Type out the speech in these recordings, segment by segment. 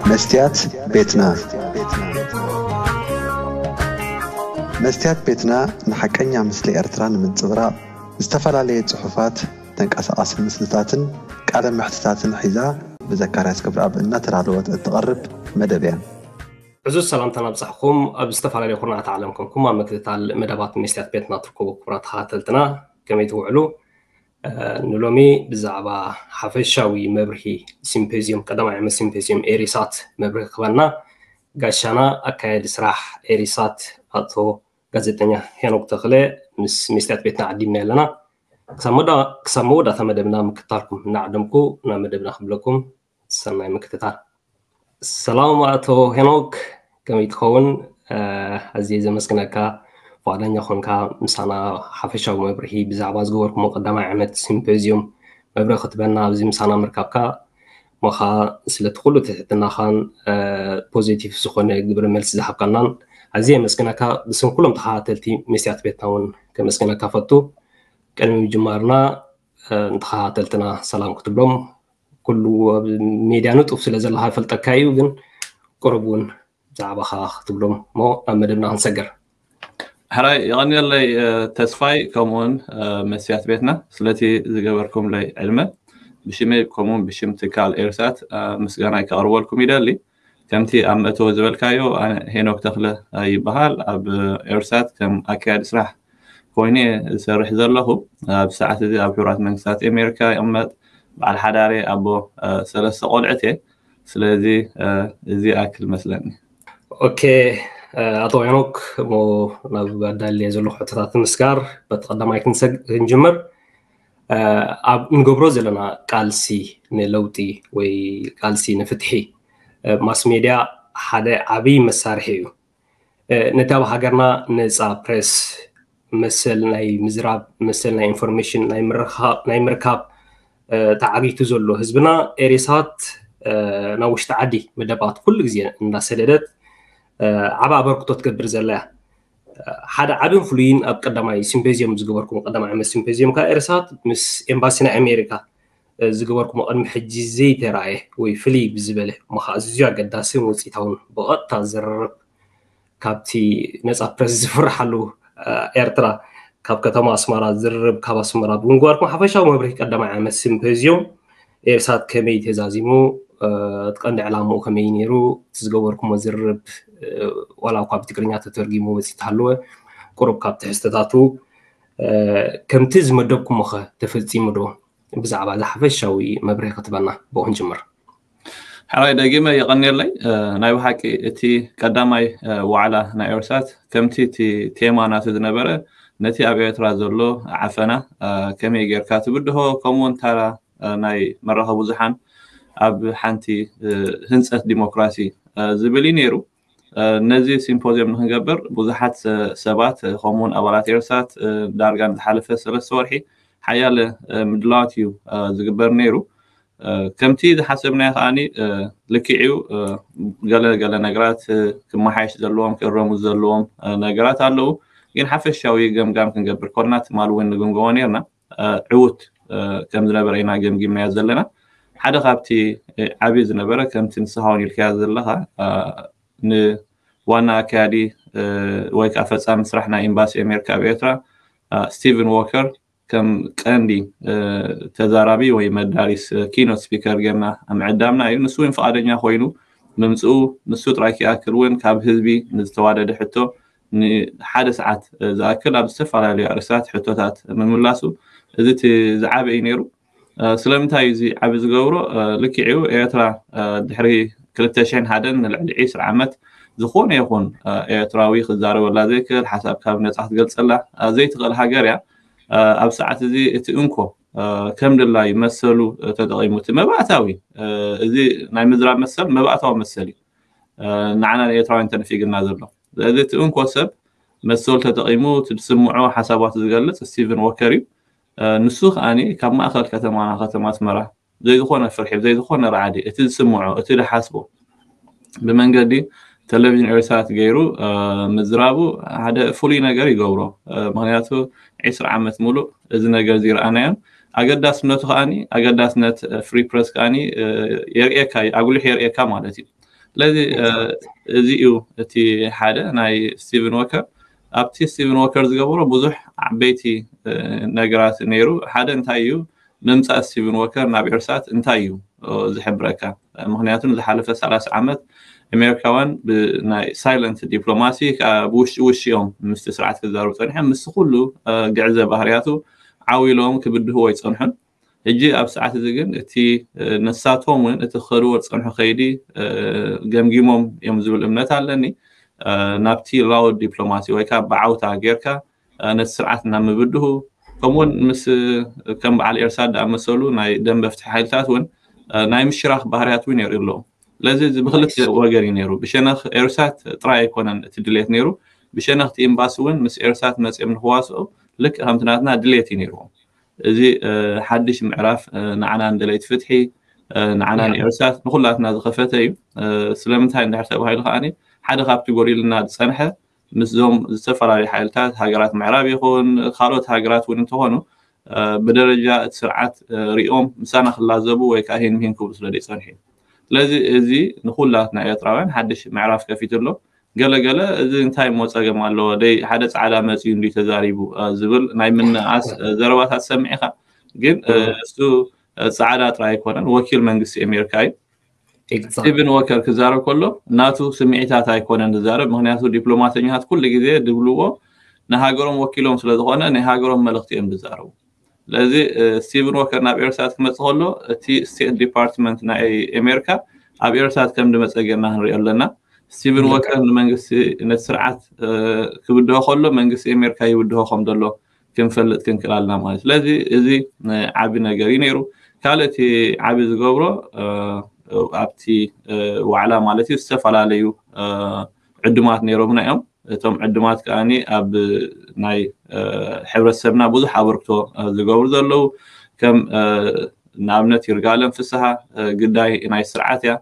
መስትያት ቤትና። መስትያት ቤትና ንሓቀኛ ምስሊ ኤርትራ ንምንጽብራቕ ዝተፈላለየ ጽሑፋት፣ ተንቀሳቓሲ ምስልታትን ቃለ መሕትታትን ሒዛ ብዘካርያስ ገብረኣብ እናተዳለወት እትቐርብ መደብ እያ። ዕዙዝ ሰላምታና ኣብጻሕኩም። ኣብ ዝተፈላለዩ ኩርናዓት ዓለም ኮንኩም ኣብ ምክትታል መደባት መስትያት ቤትና ትርከቡ ክቡራት ተኸታተልትና፣ ከመይ ትውዕሉ? ንሎሚ ብዛዕባ ሓፈሻዊ መብርሂ ሲምፖዝዩም፣ ቀዳማይ ዓመት ሲምፖዝዩም ኤሪሳት መብርሂ ክበና ጋሻና ኣካያዲ ስራሕ ኤሪሳት ኣቶ ጋዜጠኛ ሄኖክ ተኽለ ምስ መስትያት ቤትና ዓዲምና ኣለና። ክሳብ መወዳእታ መደብና ምክታልኩም እናዓደምኩ ናብ መደብና ክብለኩም ሰናይ ምክትታል። ሰላም ኣቶ ሄኖክ፣ ከመይ ትኸውን? ኣዝየ ዘመስግነካ ፍቓደኛ ኾንካ ምሳና ሓፈሻዊ መብርሂ ብዛዕባ ዝገበርኩሞ ቀዳማይ ዓመት ሲምፖዝዩም መብርሂ ክትበና ኣብዚ ምሳና ምርካብካ። ሞኻ ስለቲ ኩሉ ትሕትናኻን ፖዚቲቭ ዝኾነ ግብረ መልሲ ዝሃብካናን ኣዝየ የመስግነካ። ብስም ኩሎም ተኸታተልቲ መስትያት ቤትና እውን ከመስግነካ ፈቱ። ቅድሚ ምጅማርና ንተኸታተልትና ሰላም ክትብሎም፣ ኩሉ ኣብ ሜድያ ንጡፍ ስለ ዘለኻ ይፈልጠካ እዩ፣ ግን ቁሩብ እውን ብዛዕባኻ ክትብሎም እሞ ናብ መደብና ክንሰግር። ሕራይ የቐንየለይ ተስፋይ፣ ከምኡውን መስትያት ቤትና ስለቲ ዝገበርኩምለይ ዕድመ ብሽመይ ከምኡውን ብሽም ትካል ኤርሳት ምስጋናይ ከቕርበልኩም ይደሊ። ከምቲ ኣብ መእተዊ ዝበልካዮ፣ ኣነ ሄኖክ ተኽለ ይበሃል። ኣብ ኤርሳት ከም ኣካያዲ ስራሕ ኮይነ ዝሰርሕ ዘለኹ። ኣብ ሰዓት እዚ ኣብ ሕቡራት መንግስታት ኣሜሪካ ይቕመጥ። በዓል ሓዳር እየ፣ ኣቦ ሰለስተ ቆልዑት እየ። ስለዚ እዚ ኣክል መስለኒ። ኦኬ ኣቶ ሄኖክ፣ እሞ ናብ ኣዳልየ ዘለኹ ሕቶታት ንምስጋር በቲ ቀዳማይ ክንሰግ ክንጅምር። ኣብ እንገብሮ ዘለና ቃልሲ ንለውጢ ወይ ቃልሲ ንፍትሒ ማስ ሜድያ ሓደ ዓብዪ መሳርሒ እዩ። ነቲ ኣብ ሃገርና ነፃ ፕሬስ፣ መሰል ናይ ምዝራብ፣ መሰል ናይ ኢንፎርሜሽን ናይ ምርካብ ተዓጊቱ ዘሎ ህዝብና ኤሪሳት ናብ ውሽጢ ዓዲ መደባት ኩሉ ግዜ እንዳሰደደት ዓብ ኣበርክቶ ትገብር ዘላ እያ። ሓደ ዓብን ፍሉይን ኣብ ቀዳማይ ሲምፖዚየም ዝገበርኩም፣ ቀዳማይ ዓመት ሲምፖዚየም ከዓ ኤሪሳት ምስ ኤምባሲ ናይ ኣሜሪካ ዝገበርኩሞ ቅድሚ ሕጂ ዘይተራእየ ወይ ፍልይ ብዝበለ እሞ ከዓ ኣዝዩ ኣገዳስን ውፅኢታውን ብቐጥታ ዝርርብ ካብቲ ነፃ ፕረስ ዝፍርሓሉ ኤርትራ ካብ ከተማ ኣስመራ ዝርርብ ካብ ኣስመራ ብምግባርኩም ሓፈሻዊ መብርሂ ቀዳማይ ዓመት ሲምፖዚዮም ኤርሳት ከመይ ተዛዚሙ፣ እቲ ቀንዲ ዕላምኡ ከመይ ነይሩ፣ እቲ ዝገበርኩሞ ዝርርብ ዋላ እኳ ብትግርኛ ተተርጊሙ ወፂ ተሃለወ ቁሩብ ካብ ትሕዝቶታቱ ከምቲ ዝመደብኩሞ ኸ ተፈፂሙ ዶ? ብዛዕባ እዚ ሓፈሻዊ መብርሂ ክትበና ብኡ ክንጅምር። ሕራይ ደጊመ የቐንየለይ። ናይ ብሓቂ እቲ ቀዳማይ ዋዕላ ናይ ኤርሳት ከምቲ እቲ ቴማ ናቱ ዝነበረ ነቲ ኣብ ኤርትራ ዘሎ ዓፈና ከመይ ጌርካ ትብድሆ ከምኡውን ታራ ናይ መራኸቢ ብዙሓን ኣብ ሓንቲ ህንፀት ዲሞክራሲ ዝብል እዩ ነይሩ። ነዚ ሲምፖዚየም ንክንገብር ብዙሓት ሰባት ከምኡውን ኣባላት ኤርሳት ዳርጋ ንዝሓለፈ ሰለስተ ወርሒ ሓያለ ምድላዋት እዩ ዝግበር ነይሩ። ከምቲ ዝሓሰብናዮ ከዓኒ ልክዕዩ ገለ ገለ ነገራት ክመሓየሽ ዘለዎም ክእረሙ ዘለዎም ነገራት ኣለዉ። ግን ሓፈሻዊ ገምጋም ክንገብር ኮልና ትማል እውን ንግምገሞ ነርና ዕውት ከም ዝነበረ ኢና ገምጊምናዮ ዘለና። ሓደ ካብቲ ዓብዪ ዝነበረ ከምቲ ንስኻ እውን ኢልካዮ ዘለኻ ንዋና ኣካያዲ ወይ ከዓ ፈፃሚ ስራሕ ናይ ኤምባሲ ኣሜሪካ ኣብ ኤርትራ ስቲቨን ዎከር ከም ቀንዲ ተዛራቢ ወይ መዳሪስ ኪኖት ስፒከር ጌርና ምዕዳምና እዩ። ንሱ እውን ፍቓደኛ ኮይኑ ምምፅኡ ንሱ ጥራይ ክኣክል እውን ካብ ህዝቢ ንዝተዋደደ ሕቶ ንሓደ ሰዓት ዝኣክል ኣብ ዝተፈላለዩ ኣርእስታት ሕቶታት ምምላሱ እዚ እቲ ዝዓበ እዩ ነይሩ። ስለምንታይ እዩ እዚ ዓቢ ዝገብሮ? ልክዕ እዩ ኤርትራ ድሕሪ ክልተ ሽሕን ሓደን ንልዕሊ ዒስራ ዓመት ዝኾነ ይኹን ኤርትራዊ ክዛረበላ ዘይክእል ሓሳብ ካብ ነጻ ክትገልጸላ ዘይትኽእል ሃገር እያ። ኣብ ሰዓት እዚ እቲ እንኮ ከም ድላዩ መሰሉ ተጠቒሙ እቲ መባእታዊ እዚ ናይ ምዝራብ መሰል መባእታዊ መሰል እዩ ንዓና ንኤርትራውያን ተነፊግና ዘሎ። ስለዚ እቲ እንኮ ሰብ መሰሉ ተጠቒሙ እቲ ዝስምዖ ሓሳባት ዝገልጽ ስቲቨን ዎከር እዩ። ንሱ ከዓኒ ካብ ማእኸል ከተማና ከተማ ኣስመራ ዘይዝኾነ ፍርሒ ዘይዝኾነ ራዕዲ እቲ ዝስምዖ እቲ ዝሓስቦ ብመንገዲ ቴሌቪዥን ኤርትራ ገይሩ ምዝራቡ ሓደ ፍሉይ ነገር ይገብሮ። ምክንያቱ ዒስራ ዓመት ሙሉእ እዚ ነገር እዚ ረኣናዮን ኣገዳስነቱ ከዓኒ ኣገዳስነት ፍሪ ፕረስ ከዓኒ የርእየካ ኣጉሊሑ የርእየካ ማለት እዩ። ስለዚ እዚ እዩ እቲ ሓደ ናይ ስቲቨን ወከር። ኣብቲ ስቲቨን ወከር ዝገበሮ ብዙሕ ዓበይቲ ነገራት ነይሩ። ሓደ እንታይ እዩ፣ ምምፃእ ስቲቨን ወከር ናብ ኤርሳት እንታይ እዩ ዝሕብረካ? ምክንያቱ ንዝሓለፈ ሰላሳ ዓመት ኣሜሪካውያን ብናይ ሳይለንት ዲፕሎማሲ፣ ብውሽጢ ውሽጢ እዮም ምስቲ ስርዓት ክዛረቡ ፀኒሖም። ምስ ኩሉ ግዕዘ ባህርያቱ ዓው ኢሎም ክብድህዎ ኣይፀንሑን። ሕጂ ኣብ ሰዓት እዚ ግን እቲ ንሳቶም እውን እቲ ክኸድዎ ዝፀንሑ ከይዲ ገምጊሞም እዮም ዝብል እምነት ኣለኒ። ናብቲ ላውድ ዲፕሎማሲ ወይ ከዓ ብዓውታ ጌርካ ነቲ ስርዓት እናምብድሁ፣ ከምኡውን ምስ ከም በዓል ኤርሳት ዝኣመሰሉ ናይ ደንበ ፍትሒ ሓይልታት እውን ናይ ምሽራኽ ባህርያት እውን የርእዩ ኣለዉ። ስለዚ እዚ ብክልተ ወገን እዩ ነይሩ። ብሸነኽ ኤርሳት ጥራይ ኣይኮነን እቲ ድሌት ነይሩ፣ ብሸነኽቲ ኤምባሲ እውን ምስ ኤርሳት መፅኦም ንክዋስኦ ልክዕ ከምቲ ናትና ድሌት እዩ ነይርዎም። እዚ ሓድሽ ምዕራፍ ንዓና ንደለይቲ ፍትሒ፣ ንዓና ንኤርሳት ንኩላትና ዝኸፈተ እዩ። ስለምንታይ እንድሕር ተባሂሉ ከዓኒ ሓደ ካብቲ ጎዲልና ዝፀንሐ ምስዞም ዝተፈላለዩ ሓይልታት ሃገራት ምዕራብ ይኹን ካልኦት ሃገራት እውን እንተኾኑ ብደረጃ እቲ ስርዓት ሪኦም ምሳና ክላዘቡ ወይ ከዓ ሂን ምሂን ክብሉ ስለ ዘይፀንሑ እዩ። ስለዚ እዚ ንኩላትና ኤርትራውያን ሓድሽ ምዕራፍ ከፊቱ ኣሎ። ገለገለ እዚ እንታይ እሞ ፀገም ኣለዎ፣ ደይ ሓደ ፃዕዳ መፅዩ እንዲ ተዛሪቡ ዝብል ናይ ምንኣስ ዘረባታት ሰሚዕኻ። ግን እሱ ፃዕዳ ጥራይ ኣይኮነን፣ ወኪል መንግስቲ ኣሜሪካ እዩ። ስቲቨን ወከር ክዛረብ ከሎ ናቱ ስምዒታት ኣይኮነን ዝዛረብ። ምክንያቱ ዲፕሎማተኛታት ኩሉ ግዜ ድብልዎ ንሃገሮም ወኪሎም ስለዝኾነ ናይ ሃገሮም መልእኽቲ እዮም ዝዛረቡ። ስለዚ ስቲቨን ወከር ናብ ኤርሳት ክመፅእ ከሎ እቲ ስቴት ዲፓርትመንት ናይ ኣሜሪካ ኣብ ኤርሳት ከም ዝመፀ ጌርና ክንሪኦ ኣለና። ስቲቨን ወከር ንመንግስቲ ነቲ ስርዓት ክብድሆ ከሎ መንግስቲ ኣሜሪካ ይብድሆ ከም ዘሎ ክንፈልጥ ክንክእል ኣለና ማለት። ስለዚ እዚ ዓቢ ነገር እዩ ነይሩ። ካልእ እቲ ዓቢ ዝገብሮ ኣብቲ ዋዕላ ማለት እዩ ዝተፈላለዩ ዕዱማት ነይሮምና እዮም። እቶም ዕዱማት ከዓኒ ኣብ ናይ ሕብረተሰብና ብዙሕ ኣበርክቶ ዝገብሩ ዘለዉ ከም ንኣብነት ይርጋለም ፍስሃ ግዳይ ናይ ስርዓት እያ።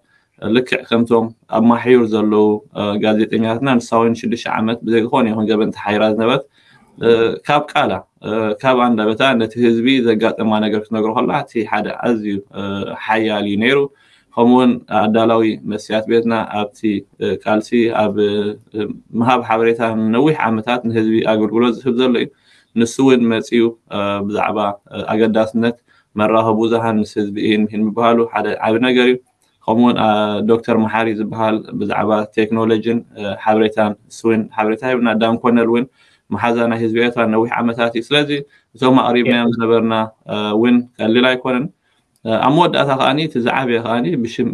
ልክዕ ከምቶም ኣብ ማሕዩር ዘለዉ ጋዜጠኛታትና ንሳ እውን ሽዱሽተ ዓመት ብዘይ ዝኾነ ይኹን ገበን ተሓይራ ዝነበረት ካብ ቃላ ካብ ኣንደበታ ነቲ ህዝቢ ዘጋጠማ ነገር ክትነግሮ ከላ እቲ ሓደ ኣዝዩ ሓያል እዩ ነይሩ። ከምኡውን ኣዳላዊ መስትያት ቤትና ኣብቲ ቃልሲ ኣብ ምሃብ ሓበሬታ ነዊሕ ዓመታት ንህዝቢ ኣገልግሎት ዝህብ ዘሎ እዩ። ንሱ እውን መፅዩ ብዛዕባ ኣገዳስነት መራኸቢ ብዙሃን ምስ ህዝቢ ይህን ምሂን ምብሃሉ ሓደ ዓቢ ነገር እዩ። ከምኡውን ዶክተር መሓሪ ዝበሃል ብዛዕባ ቴክኖሎጂን ሓበሬታን እሱ እውን ሓበሬታ ሂብና። ዳን ኮነል እውን መሓዛ ናይ ህዝቢ ኤርትራ ነዊሕ ዓመታት እዩ። ስለዚ እቶም ኣቕሪብናዮም ዝነበርና እውን ቀሊል ኣይኮነን። ኣብ መወዳእታ ከዓኒ እቲ ዝዓበየ ከዓኒ ብሽም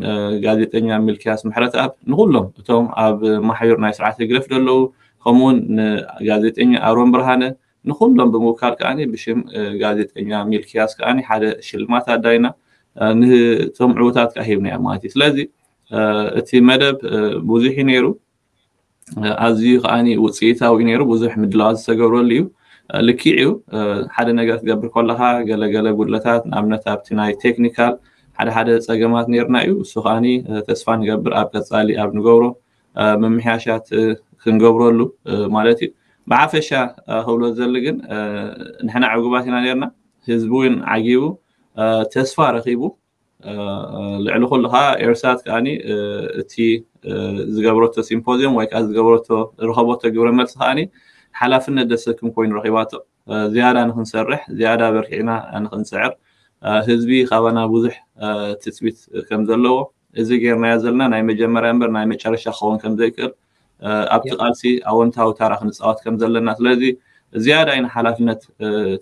ጋዜጠኛ ሚልክያስ ምሕረተኣብ ንኩሎም እቶም ኣብ ማሕዩር ናይ ስርዓት ህግደፍ ዘለዉ ከምኡውን ንጋዜጠኛ ኣሮን ብርሃነ ንኩሎም ብምውካል ከዓኒ ብሽም ጋዜጠኛ ሚልክያስ ከዓኒ ሓደ ሽልማት ኣዳይና ንቶም ዕውታት ከዓ ሂብና እዮም ማለት እዩ። ስለዚ እቲ መደብ ብዙሕ እዩ ነይሩ። ኣዝዩ ከዓኒ ውፅኢታዊ ነይሩ። ብዙሕ ምድላዋት ዝተገብረሉ እዩ። ልክዕ እዩ። ሓደ ነገር ክትገብር ከለካ ገለገለ ጉድለታት ንኣብነት ኣብቲ ናይ ቴክኒካል ሓደ ሓደ ፀገማት ነይርና እዩ። እሱ ከዓኒ ተስፋ ንገብር ኣብ ቀፃሊ ኣብ ንገብሮ ምምሕያሻት ክንገብረሉ ማለት እዩ። ብሓፈሻ ክብሎ ዘሊ ግን ንሕና ዕጉባት ኢና ነርና። ህዝቢ እውን ዓጊቡ ተስፋ ረኺቡ። ልዕሊ ኩሉ ከዓ ኤርሳት ከዓኒ እቲ ዝገብረቶ ሲምፖዚየም ወይ ከዓ ዝገበረቶ ዝረኸበቶ ግብረ መልሲ ከዓኒ ሓላፍነት ደሰክም ኮይኑ ረኺባቶ። ዝያዳ ንክንሰርሕ ዝያዳ በርቲዕና ንክንፅዕር ህዝቢ ካባና ብዙሕ ትፅቢት ከም ዘለዎ እዚ ጌርናዮ ዘለና ናይ መጀመርያ እምበር ናይ መጨረሻ ክኸውን ከም ዘይክእል ኣብቲ ቃልሲ ኣወንታዊ ታራ ክንፃወት ከም ዘለና ስለዚ ዝያዳ ኢና ሓላፍነት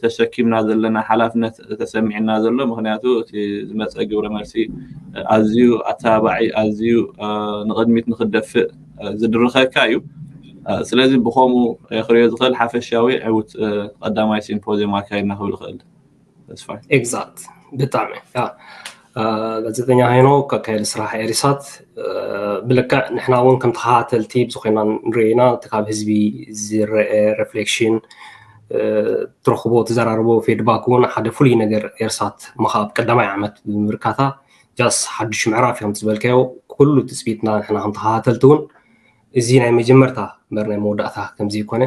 ተሸኪምና ዘለና ሓላፍነት ተሰሚዕና ዘሎ ምክንያቱ እቲ ዝመፀ ግብረ መልሲ ኣዝዩ ኣተባባዒ ኣዝዩ ንቅድሚት ንክደፍእ ዝድርኸካ እዩ። ስለዚ ብከምኡ ክሪኦ ዝኽእል ሓፈሻዊ ዕውት ቀዳማይ ሲምፖዚየም ኣካይድና ክብል ይኽእል። ተስፋይ exact ብጣዕሚ ጋዜጠኛ ሄኖክ ኣካየዲ ስራሕ ኤሪሳት ብልክዕ ንሕና እውን ከም ተኸታተልቲ ብዙ ኮይና ንሪኦ ኢና እቲ ካብ ህዝቢ ዝረአ ሬፍሌክሽን ትረኽቦ ትዘራርቦ ፌድባክ እውን ሓደ ፍሉይ ነገር ኤርሳት ምኻብ ቀዳማይ ዓመት ብምብርካታ ጃስ ሓዱሽ ምዕራፍ እዮም ዝበልካዮ ኩሉ ትፅቢትና ንሕና ከም ተኸታተልቲ እውን እዚ ናይ መጀመርታ እምበር ናይ መወዳእታ ከምዘይኮነ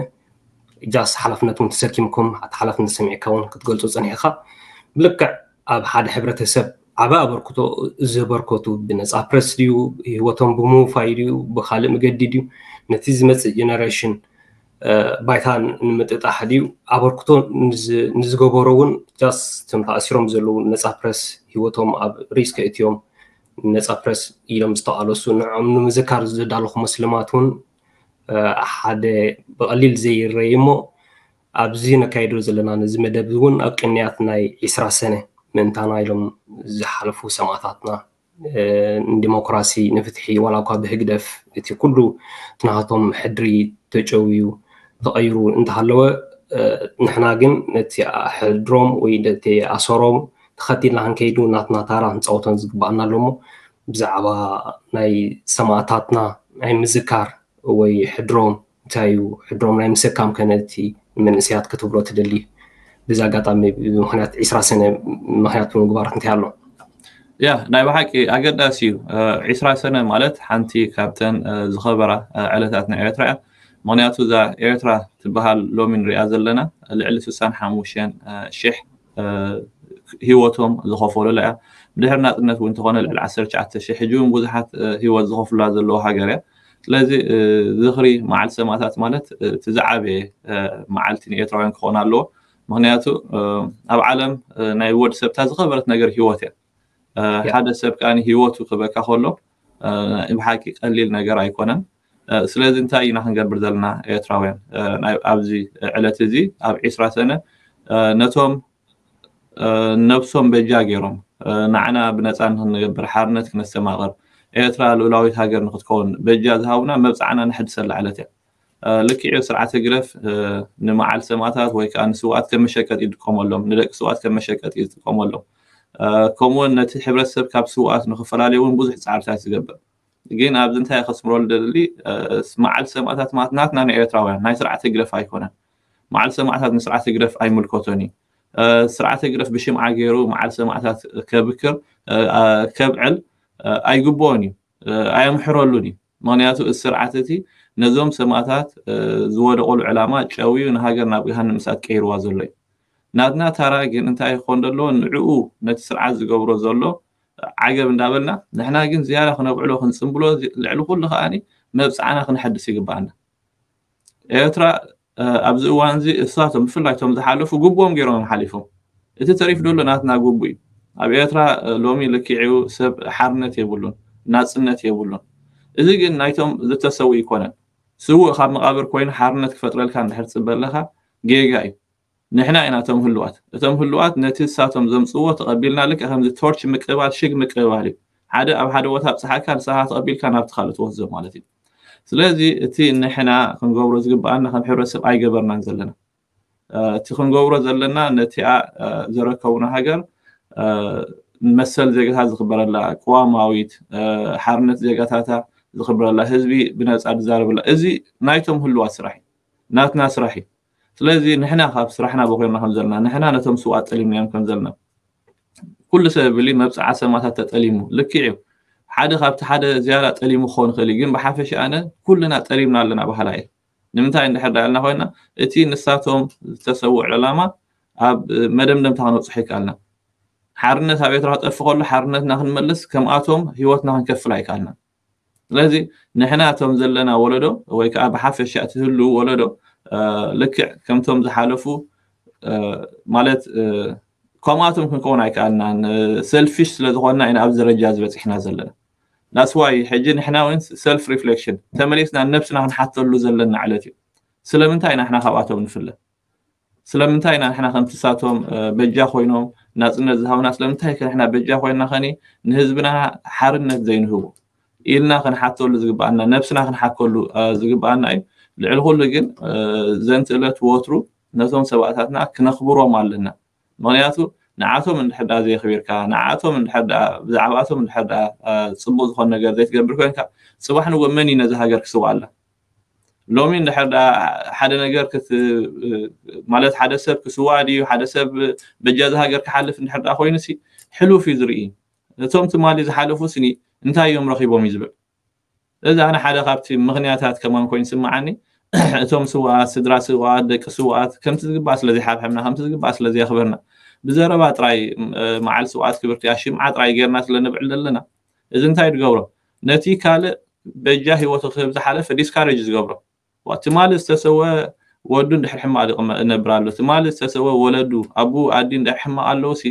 ጃስ ሓላፍነት እውን ተሰኪምኩም ኣቲ ሓላፍነት ሰሚዕካ እውን ክትገልፁ ፀኒሕካ ብልክዕ ኣብ ሓደ ሕብረተሰብ ዓበ ኣበርክቶ ዘበርከቱ ብነፃ ፕረስ ድዩ፣ ህይወቶም ብምውፋይ ድዩ፣ ብካልእ መገዲ ድዩ፣ ነቲ ዝመፅእ ጀነሬሽን ባይታ ንምጥጣሕ ድዩ ኣበርክቶ ንዝገበሮ እውን ጃስ ቶም ተኣሲሮም ዘለዉ ነፃ ፕረስ ህይወቶም ኣብ ሪስክ እትዮም ነፃ ፕረስ ኢሎም ዝተቓለሱ ንዕኦም ንምዝካር ዘዳለኹ መስልማት እውን ሓደ ብቐሊል ዘይረይ እሞ ኣብዚ ነካይዶ ዘለና ነዚ መደብ እውን ኣብ ቅንያት ናይ ዒስራ ሰነ ምእንታና ኢሎም ዝሓለፉ ሰማእታትና ንዲሞክራሲ ንፍትሒ ዋላ እኳ ብህግደፍ እቲ ኩሉ ትናሃቶም ሕድሪ ተጨውዩ ተቐይሩ እንተሃለወ ንሕና ግን ነቲ ሕድሮም ወይ ነቲ ኣሰሮም ተኸቲልና ክንከይዱ ናትና ታራ ክንፃወቶን ዝግባኣና ኣለሞ ብዛዕባ ናይ ሰማእታትና ናይ ምዝካር ወይ ሕድሮም እንታይ እዩ ሕድሮም ናይ ምስካም ከነቲ መንእሰያት ክትብሎ ትደሊ ብዚ ኣጋጣሚ ብምክንያት ዒስራ ሰነ ምክንያት ብምግባር እንታይ ኣሎ ያ ናይ ብሓቂ ኣገዳሲ እዩ ዒስራ ሰነ ማለት ሓንቲ ካብተን ዝኸበራ ዕለታት ናይ ኤርትራ እያ ምክንያቱ እዛ ኤርትራ ትበሃል ሎሚ ንሪኣ ዘለና ልዕሊ ስሳን ሓሙሽተን ሽሕ ህይወቶም ዝኸፈሉላ እያ ብድሕሪ ናፅነት እውን እንተኾነ ልዕሊ ዓሰርተ ትሽዓተ ሽሕ ሕጂ እውን ብዙሓት ህይወት ዝኸፍሉላ ዘለዉ ሃገር እያ ስለዚ ዝኽሪ መዓልቲ ሰማእታት ማለት እቲ ዝዓበየ መዓልቲ ንኤርትራውያን ክኾን ኣለዎ ምክንያቱ ኣብ ዓለም ናይ ወዲ ሰብታ ዝኸበረት ነገር ህይወት እያ ሓደ ሰብ ከዓ ህይወቱ ክበካ ከሎ ብሓቂ ቀሊል ነገር ኣይኮነን ስለዚ እንታይ ኢና ክንገብር ዘለና ኤርትራውያን ኣብዚ ዕለት እዚ ኣብ ዒስራ ሰነ ነቶም ነብሶም በጃ ገይሮም ንዓና ብነፃ ንክንገብር ሓርነት ክነስተማቕር ኤርትራ ልኡላዊት ሃገር ንክትከውን በጃ ዝሃቡና መብፃዕና ንሕድሰላ ዕለት እያ ልክዕ ስርዓት ህግደፍ ንመዓል ሰማእታት ወይ ከዓ ንስውኣት ከም መሸቀጢ ይጥቀመሎም ንደቂ ስውኣት ከም መሸቀጢ ይጥቀመሎም ከምኡውን ነቲ ሕብረተሰብ ካብ ስውኣት ንክፈላለዩ እውን ብዙሕ ፃዕርታት ዝገብር ግን ኣብዚ እንታይ ከስምረሉ ደሊ መዓል ሰማእታት ማለት ናትና ንኤርትራውያን ናይ ስርዓት ህግደፍ ኣይኮነን መዓል ሰማእታት ንስርዓት ህግደፍ ኣይምልከቶን እዩ ስርዓት ህግደፍ ብሽምዓ ገይሩ መዓል ሰማእታት ከብክር ከብዕል ኣይግብኦን እዩ ኣየምሕረሉን እዩ ምክንያቱ እዚ ስርዓት እቲ ነዞም ሰማእታት ዝወደቐሉ ዕላማ ጨውዩ ንሃገር ናብ ገሃን ንምስኣት ቀይርዋ ዘሎ እዩ ናትና ታራ ግን እንታይ ክኾን ዘለዎ ንዕኡ ነቲ ስርዓት ዝገብሮ ዘሎ ዓገብ እንዳበልና ንሕና ግን ዝያዳ ክነብዕሎ ክንፅምብሎ ልዕሊ ኩሉ ከዓ መብፃዕና ክነሐድስ ይግባኣና ኤርትራ ኣብዚ እዋን እዚ እሳቶም ብፍላይ ቶም ዝሓለፉ ግቡኦም ገይሮም ሓሊፎም እቲ ተሪፍ ደሎ ናትና ግቡ እዩ ኣብ ኤርትራ ሎሚ ልክዕኡ ሰብ ሓርነት የብሉን ናፅነት የብሉን እዚ ግን ናይቶም ዝተሰው ይኮነን ስውእ ካብ መቃብር ኮይኑ ሓርነት ክፈጥረልካ እንድሕር ትፅበ ኣለካ ጌጋ እዩ ንሕና ኢና እቶም ህልዋት እቶም ህልዋት ነቲ እሳቶም ዘምፅዎ ተቐቢልና ልክዕ ከምዚ ቶርች ምቅባል ሽግ ምቅባል እዩ ሓደ ኣብ ሓደ ቦታ ኣብፅሓካ ንስኻ ተቐቢልካ ናብቲ ካልእ ትወስዶ ማለት እዩ ስለዚ እቲ ንሕና ክንገብሮ ዝግበኣና ከም ሕብረተሰብ ኣይገበርናን ዘለና እቲ ክንገብሮ ዘለና ነቲኣ ዘረከቡና ሃገር መሰል ዜጋታት ዝኽበረላ ቅዋማዊት ሓርነት ዜጋታታ ዝኽበረላ ህዝቢ ብነፃ ዝዛረበላ እዚ ናይቶም ህልዋት ስራሕ እዩ ናትና ስራሕ እዩ ስለዚ ንሕና ካብ ስራሕና በኮርና ከም ዘለና ንሕና ነቶም ስውኣት ጠሊምናዮም ከም ዘለና ኩሉ ሰብ ብሊ መብፅዓ ሰማታት ተጠሊሙ ልክዕ እዩ ሓደ ካብቲ ሓደ ዝያዳ ጠሊሙ ክኸውን ይኽእል እዩ ግን ብሓፈሻ ኣነ ኩልና ጠሊምና ኣለና ባህላ እየ ንምንታይ እንድሕር ዳልና ኮይና እቲ ንሳቶም ዝተሰውዕ ዕላማ ኣብ መደምደምታ ክነብፅሖ ይከኣልና ሓርነት ኣብ ኤርትራ ክጠፍ ከሎ ሓርነትና ክንመልስ ከምኣቶም ህይወትና ክንከፍል ኣይከኣልና ስለዚ ንሕና እቶም ዘለና ወለዶ ወይ ከዓ ብሓፈሻ እቲ ህልው ወለዶ ልክዕ ከምቶም ዝሓለፉ ማለት ከምኣቶም ክንከውን ኣይከኣልናን ሰልፊሽ ስለዝኮንና ኢና ኣብዚ ደረጃ ዝበፂሕና ዘለና that's why ሕጂ ንሕና እውን ሰልፍ ሪፍሌክሽን ተመሊስና ነብስና ክንሓተሉ ዘለና ዕለት እዩ ስለምንታይ ኢና ንሕና ካብኣቶም ንፍለ ስለምንታይ ኢና ንሕና ከምትሳቶም በጃ ኮይኖም ናፅነት ዝሃብና ስለምንታይ ንሕና በጃ ኮይና ከኒ ንህዝብና ሓርነት ዘይንህቡ ኢልና ክንሓተሉ ዝግበኣና ነብስና ክንሓከሉ ዝግበኣና እዩ ልዕሊ ኩሉ ግን ዘንቲ እለት ወትሩ ነቶም ሰባእታትና ክነኽብሮም ኣለና ምክንያቱ ንዓቶም እንድሕር ዳ ዘየኽቢርካ ንዓቶም እንድሕር ዳ ብዛዕባኣቶም እንድሕር ዳ ፅቡቅ ዝኾነ ነገር ዘይትገብር ኮይንካ ፅባሕ ንጎ መን እዩ ነዚ ሃገር ክስውኣላ ሎሚ እንድሕር ዳ ሓደ ነገር ማለት ሓደ ሰብ ክስዋእ ድዩ ሓደ ሰብ በጃዚ ሃገር ክሓልፍ እንድሕር ዳ ኮይኑ ሲ ሕሉፍ እዩ ዝርኢ እቶም ትማሊ ዝሓለፉ ስኒ እንታይ እዮም ረኺቦም እዩ ዝብል እዚ ኣነ ሓደ ካብቲ ምክንያታት ከማን ኮይኑ ስምዓኒ እቶም ስውኣት ስድራ ስውኣት ደቂ ስውኣት ከምቲ ዝግባእ ስለ ዘይሓብሐብና ከምቲ ዝግባእ ስለ ዘየኽበርና ብዘረባ ጥራይ መዓል ስውኣት ክብርቲ ኣሽምዓ ጥራይ ጌርና ስለ ንብዕል ዘለና፣ እዚ እንታይ ዝገብሮ? ነቲ ካልእ በጃ ህይወቱ ክህብ ዝሓለፈ ዲስካሬጅ ዝገብሮ። ትማሊ ዝተሰወ ወዱ እንድሕር ሕማቕ ይነብር ኣሎ፣ ትማሊ ዝተሰወ ወለዱ፣ ኣቡ ኣዲ እንድሕር ሕማቕ ኣለውሲ፣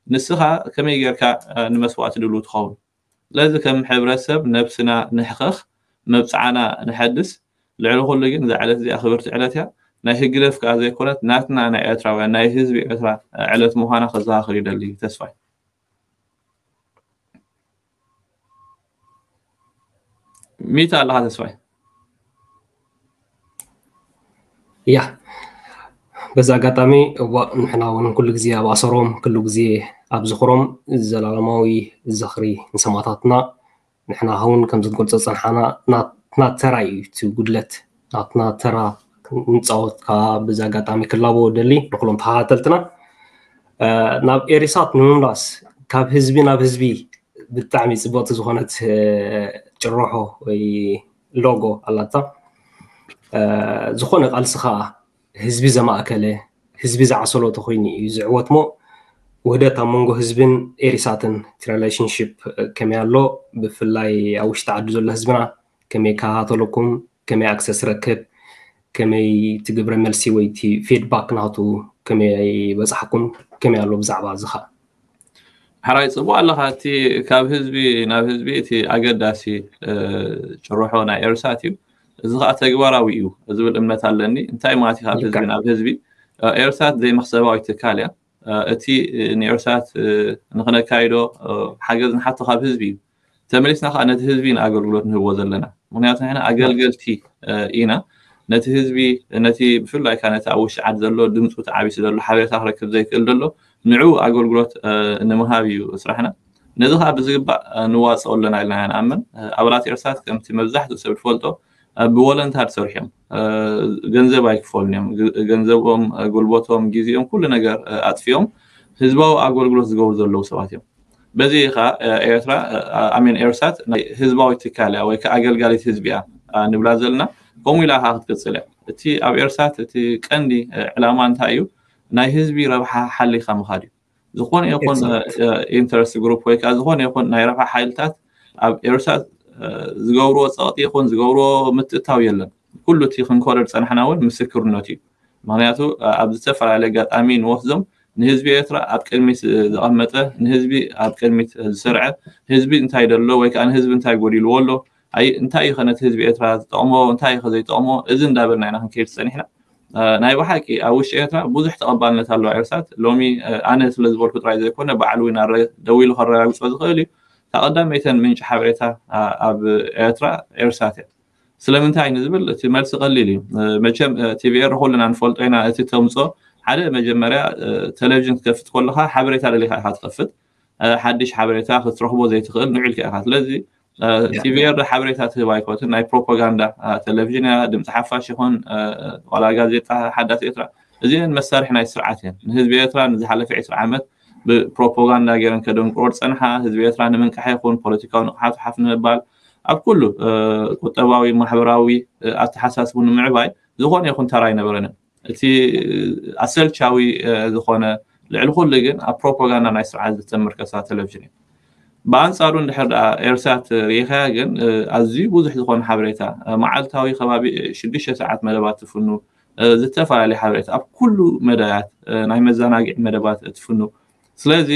ንስኻ ከመይ ጌርካ ንመስዋእቲ ድሉ ትኸውን? ስለዚ ከም ሕብረተሰብ ነብስና ንሕኸኽ፣ መብፅዓና ንሐድስ። ልዕሊ ኩሉ ግን እዛ ዕለት እዚኣ ክብርቲ ዕለት እያ። ናይ ህግደፍ ከዓ ዘይኮነት፣ ናትና ናይ ኤርትራውያን፣ ናይ ህዝቢ ኤርትራ ዕለት ምዃና ከዘኻኽር ይደሊ። ተስፋይ ሚታ ኣለኻ? ተስፋይ ያ በዚ ኣጋጣሚ እዋ ንሕና እውን ኩሉ ግዜ ኣብ ኣሰሮም ኩሉ ግዜ ኣብ ዝኽሮም ዘላለማዊ ዝኽሪ ንሰማእታትና። ንሕና እውን ከም ዝትገልጾ ዝጸንሓና ናትና ተራ እዩ እቲ ጉድለት፣ ናትና ተራ ንጻወት ከዓ በዚ ኣጋጣሚ ክላቦ ደሊ ንኩሎም ተኸታተልትና። ናብ ኤሪሳት ንምምላስ ካብ ህዝቢ ናብ ህዝቢ ብጣዕሚ ጽብቕቲ ዝኾነት ጭርሖ ወይ ሎጎ ኣላታ። ዝኾነ ቃልሲ ከዓ ህዝቢ ዘማእከለ ህዝቢ ዝዓሰሎ ተኮይኑ እዩ ዝዕወት። ሞ ውህደት ኣብ መንጎ ህዝብን ኤሪሳትን እቲ ሪሌሽንሽፕ ከመይ ኣሎ? ብፍላይ ኣብ ውሽጢ ዓዲ ዘሎ ህዝብና ከመይ ይከታተለኩም? ከመይ ኣክሰስ ረክብ? ከመይ እቲ ግብረ መልሲ ወይ እቲ ፊድባክ ናቱ ከመይ በጻሕኩም? ከመይ ኣሎ ብዛዕባ እዚ ኸኣ? ሕራይ ጽቡቕ ኣለኻ። እቲ ካብ ህዝቢ ናብ ህዝቢ እቲ ኣገዳሲ ጭርሖ ናይ ኤርሳት እዩ። እዚ ኸኣ ተግባራዊ እዩ ዝብል እምነት ኣለኒ። እንታይ ማለት እዩ ካብ ህዝቢ ናብ ህዝቢ? ኤርሳት ዘይመኽሰባዊ ትካል እያ። እቲ ንኤርሳት ንኽነካይዶ ሓገዝ ንሓቶ ካብ ህዝቢ እዩ። ተመሊስና ከዓ ነቲ ህዝቢ ኢና ኣገልግሎት ንህቦ ዘለና። ምክንያቱ ንሕና ኣገልገልቲ ኢና። ነቲ ህዝቢ፣ ነቲ ብፍላይ ከዓ ነቲ ኣብ ውሽጢ ዓዲ ዘሎ ድምፁ ተዓቢሱ ዘሎ ሓበሬታ ክረክብ ዘይክእል ዘሎ ንዑ ኣገልግሎት ንምሃብ እዩ ስራሕና። ነዚ ከዓ ብዝግባእ ንዋፅኦ ኣለና ኢልና ኢና ንኣምን። ኣባላት ኤርሳት ከምቲ መብዛሕትኡ ሰብ ዝፈልጦ ብወለንታር ዝሰርሑ እዮም። ገንዘብ ኣይክፈሉን እዮም። ገንዘቦም፣ ጉልበቶም፣ ግዜኦም፣ ኩሉ ነገር ኣጥፊኦም ህዝባዊ ኣገልግሎት ዝገብሩ ዘለዉ ሰባት እዮም። በዚ ከዓ ኤርትራ ኣሜን ኤርሳት ናይ ህዝባዊ ትካል እያ ወይ ከዓ ኣገልጋሊት ህዝቢ እያ ንብላ ዘለና። ከምኡ ኢላ ከዓ ክትቅፅል እያ። እቲ ኣብ ኤርሳት እቲ ቀንዲ ዕላማ እንታይ እዩ? ናይ ህዝቢ ረብሓ ሓሊኻ ምኻድ እዩ። ዝኾነ ይኹን ኢንተረስት ግሩፕ ወይ ከዓ ዝኾነ ይኹን ናይ ረብሓ ሓይልታት ኣብ ኤርሳት ዝገብርዎ ፀቕጢ ይኹን ዝገብርዎ ምትእታው የለን። ኩሉ እቲ ክንኮረ ዝፀናሕና እውን ምስክርነቱ እዩ። ምክንያቱ ኣብ ዝተፈላለየ ኣጋጣሚ ንወስዶም ንህዝቢ ኤርትራ ኣብ ቅድሚት ዘቐመጠ፣ ንህዝቢ ኣብ ቅድሚት ዝሰርዐ፣ ህዝቢ እንታይ ደሎ ወይ ከዓ ንህዝቢ እንታይ ጎዲልዎ ኣሎ፣ እንታይ እዩ ከ ነቲ ህዝቢ ኤርትራ ዝጠቕሞ፣ እንታይ እዩ ከ ዘይጠቕሞ፣ እዚ እንዳበልና ኢና ክንከይድ ዝፀኒሕና። ናይ ብሓቂ ኣብ ውሽጢ ኤርትራ ብዙሕ ተቐባልነት ኣለዋ ኤርሳት። ሎሚ ኣነ ስለ ዝበልኩ ጥራይ ዘይኮነ፣ በዓል ዊናረ ደዊሉ ከረጋግጾ ዝኽእል እዩ። እታ ቀዳመይተን ምንጪ ሓበሬታ ኣብ ኤርትራ ኤርሳት እያ። ስለምንታይ ንዝብል እቲ መልሲ ቀሊል እዩ። መቸም ቲቪኤር ኩልና ንፈልጦ ኢና። እቲ ተምጾ ሓደ መጀመርያ ቴሌቪዥን ክትከፍት ከለኻ ሓበሬታ ደሊኻ ኢኻ ትኸፍት። ሓድሽ ሓበሬታ ክትረኽቦ ዘይትኽእል ንዑ ኢልካ ኢኻ። ስለዚ ቲቪኤር ሓበሬታ ትህብ ኣይኮትን። ናይ ፕሮፓጋንዳ ቴሌቪዥን እያ። ድምፂ ሓፋሽ ይኹን ዋላ ጋዜጣ ሓዳስ ኤርትራ፣ እዚአን መሳርሒ ናይ ስርዓት እየን። ንህዝቢ ኤርትራ ንዝሓለፈ ዕስራ ዓመት ብፕሮፓጋንዳ ገይረን ከደንቁሮ ዝፀንሓ፣ ህዝቢ ኤርትራ ንምንቃሕ ይኹን ፖለቲካዊ ንቕሓቱ ሓፍ ንምባል፣ ኣብ ኩሉ ቁጠባዊ፣ ማሕበራዊ ኣተሓሳስቡ ንምዕባይ ዝኾነ ይኹን ተራ ኣይነበረንን። እቲ ኣሰልቻዊ ዝኾነ፣ ልዕሊ ኩሉ ግን ኣብ ፕሮፓጋንዳ ናይ ስርዓት ዝተመርከሳ ቴሌቪዥን እዩ። ብኣንጻሩ እንድሕር ደኣ ኤርሳት ርኢኻያ ግን ኣዝዩ ብዙሕ ዝኾነ ሓበሬታ፣ መዓልታዊ ከባቢ ሽዱሽተ ሰዓት መደባት ትፍኑ፣ ዝተፈላለዩ ሓበሬታ ኣብ ኩሉ መዳያት፣ ናይ መዘናግዒ መደባት ትፍኑ። ስለዚ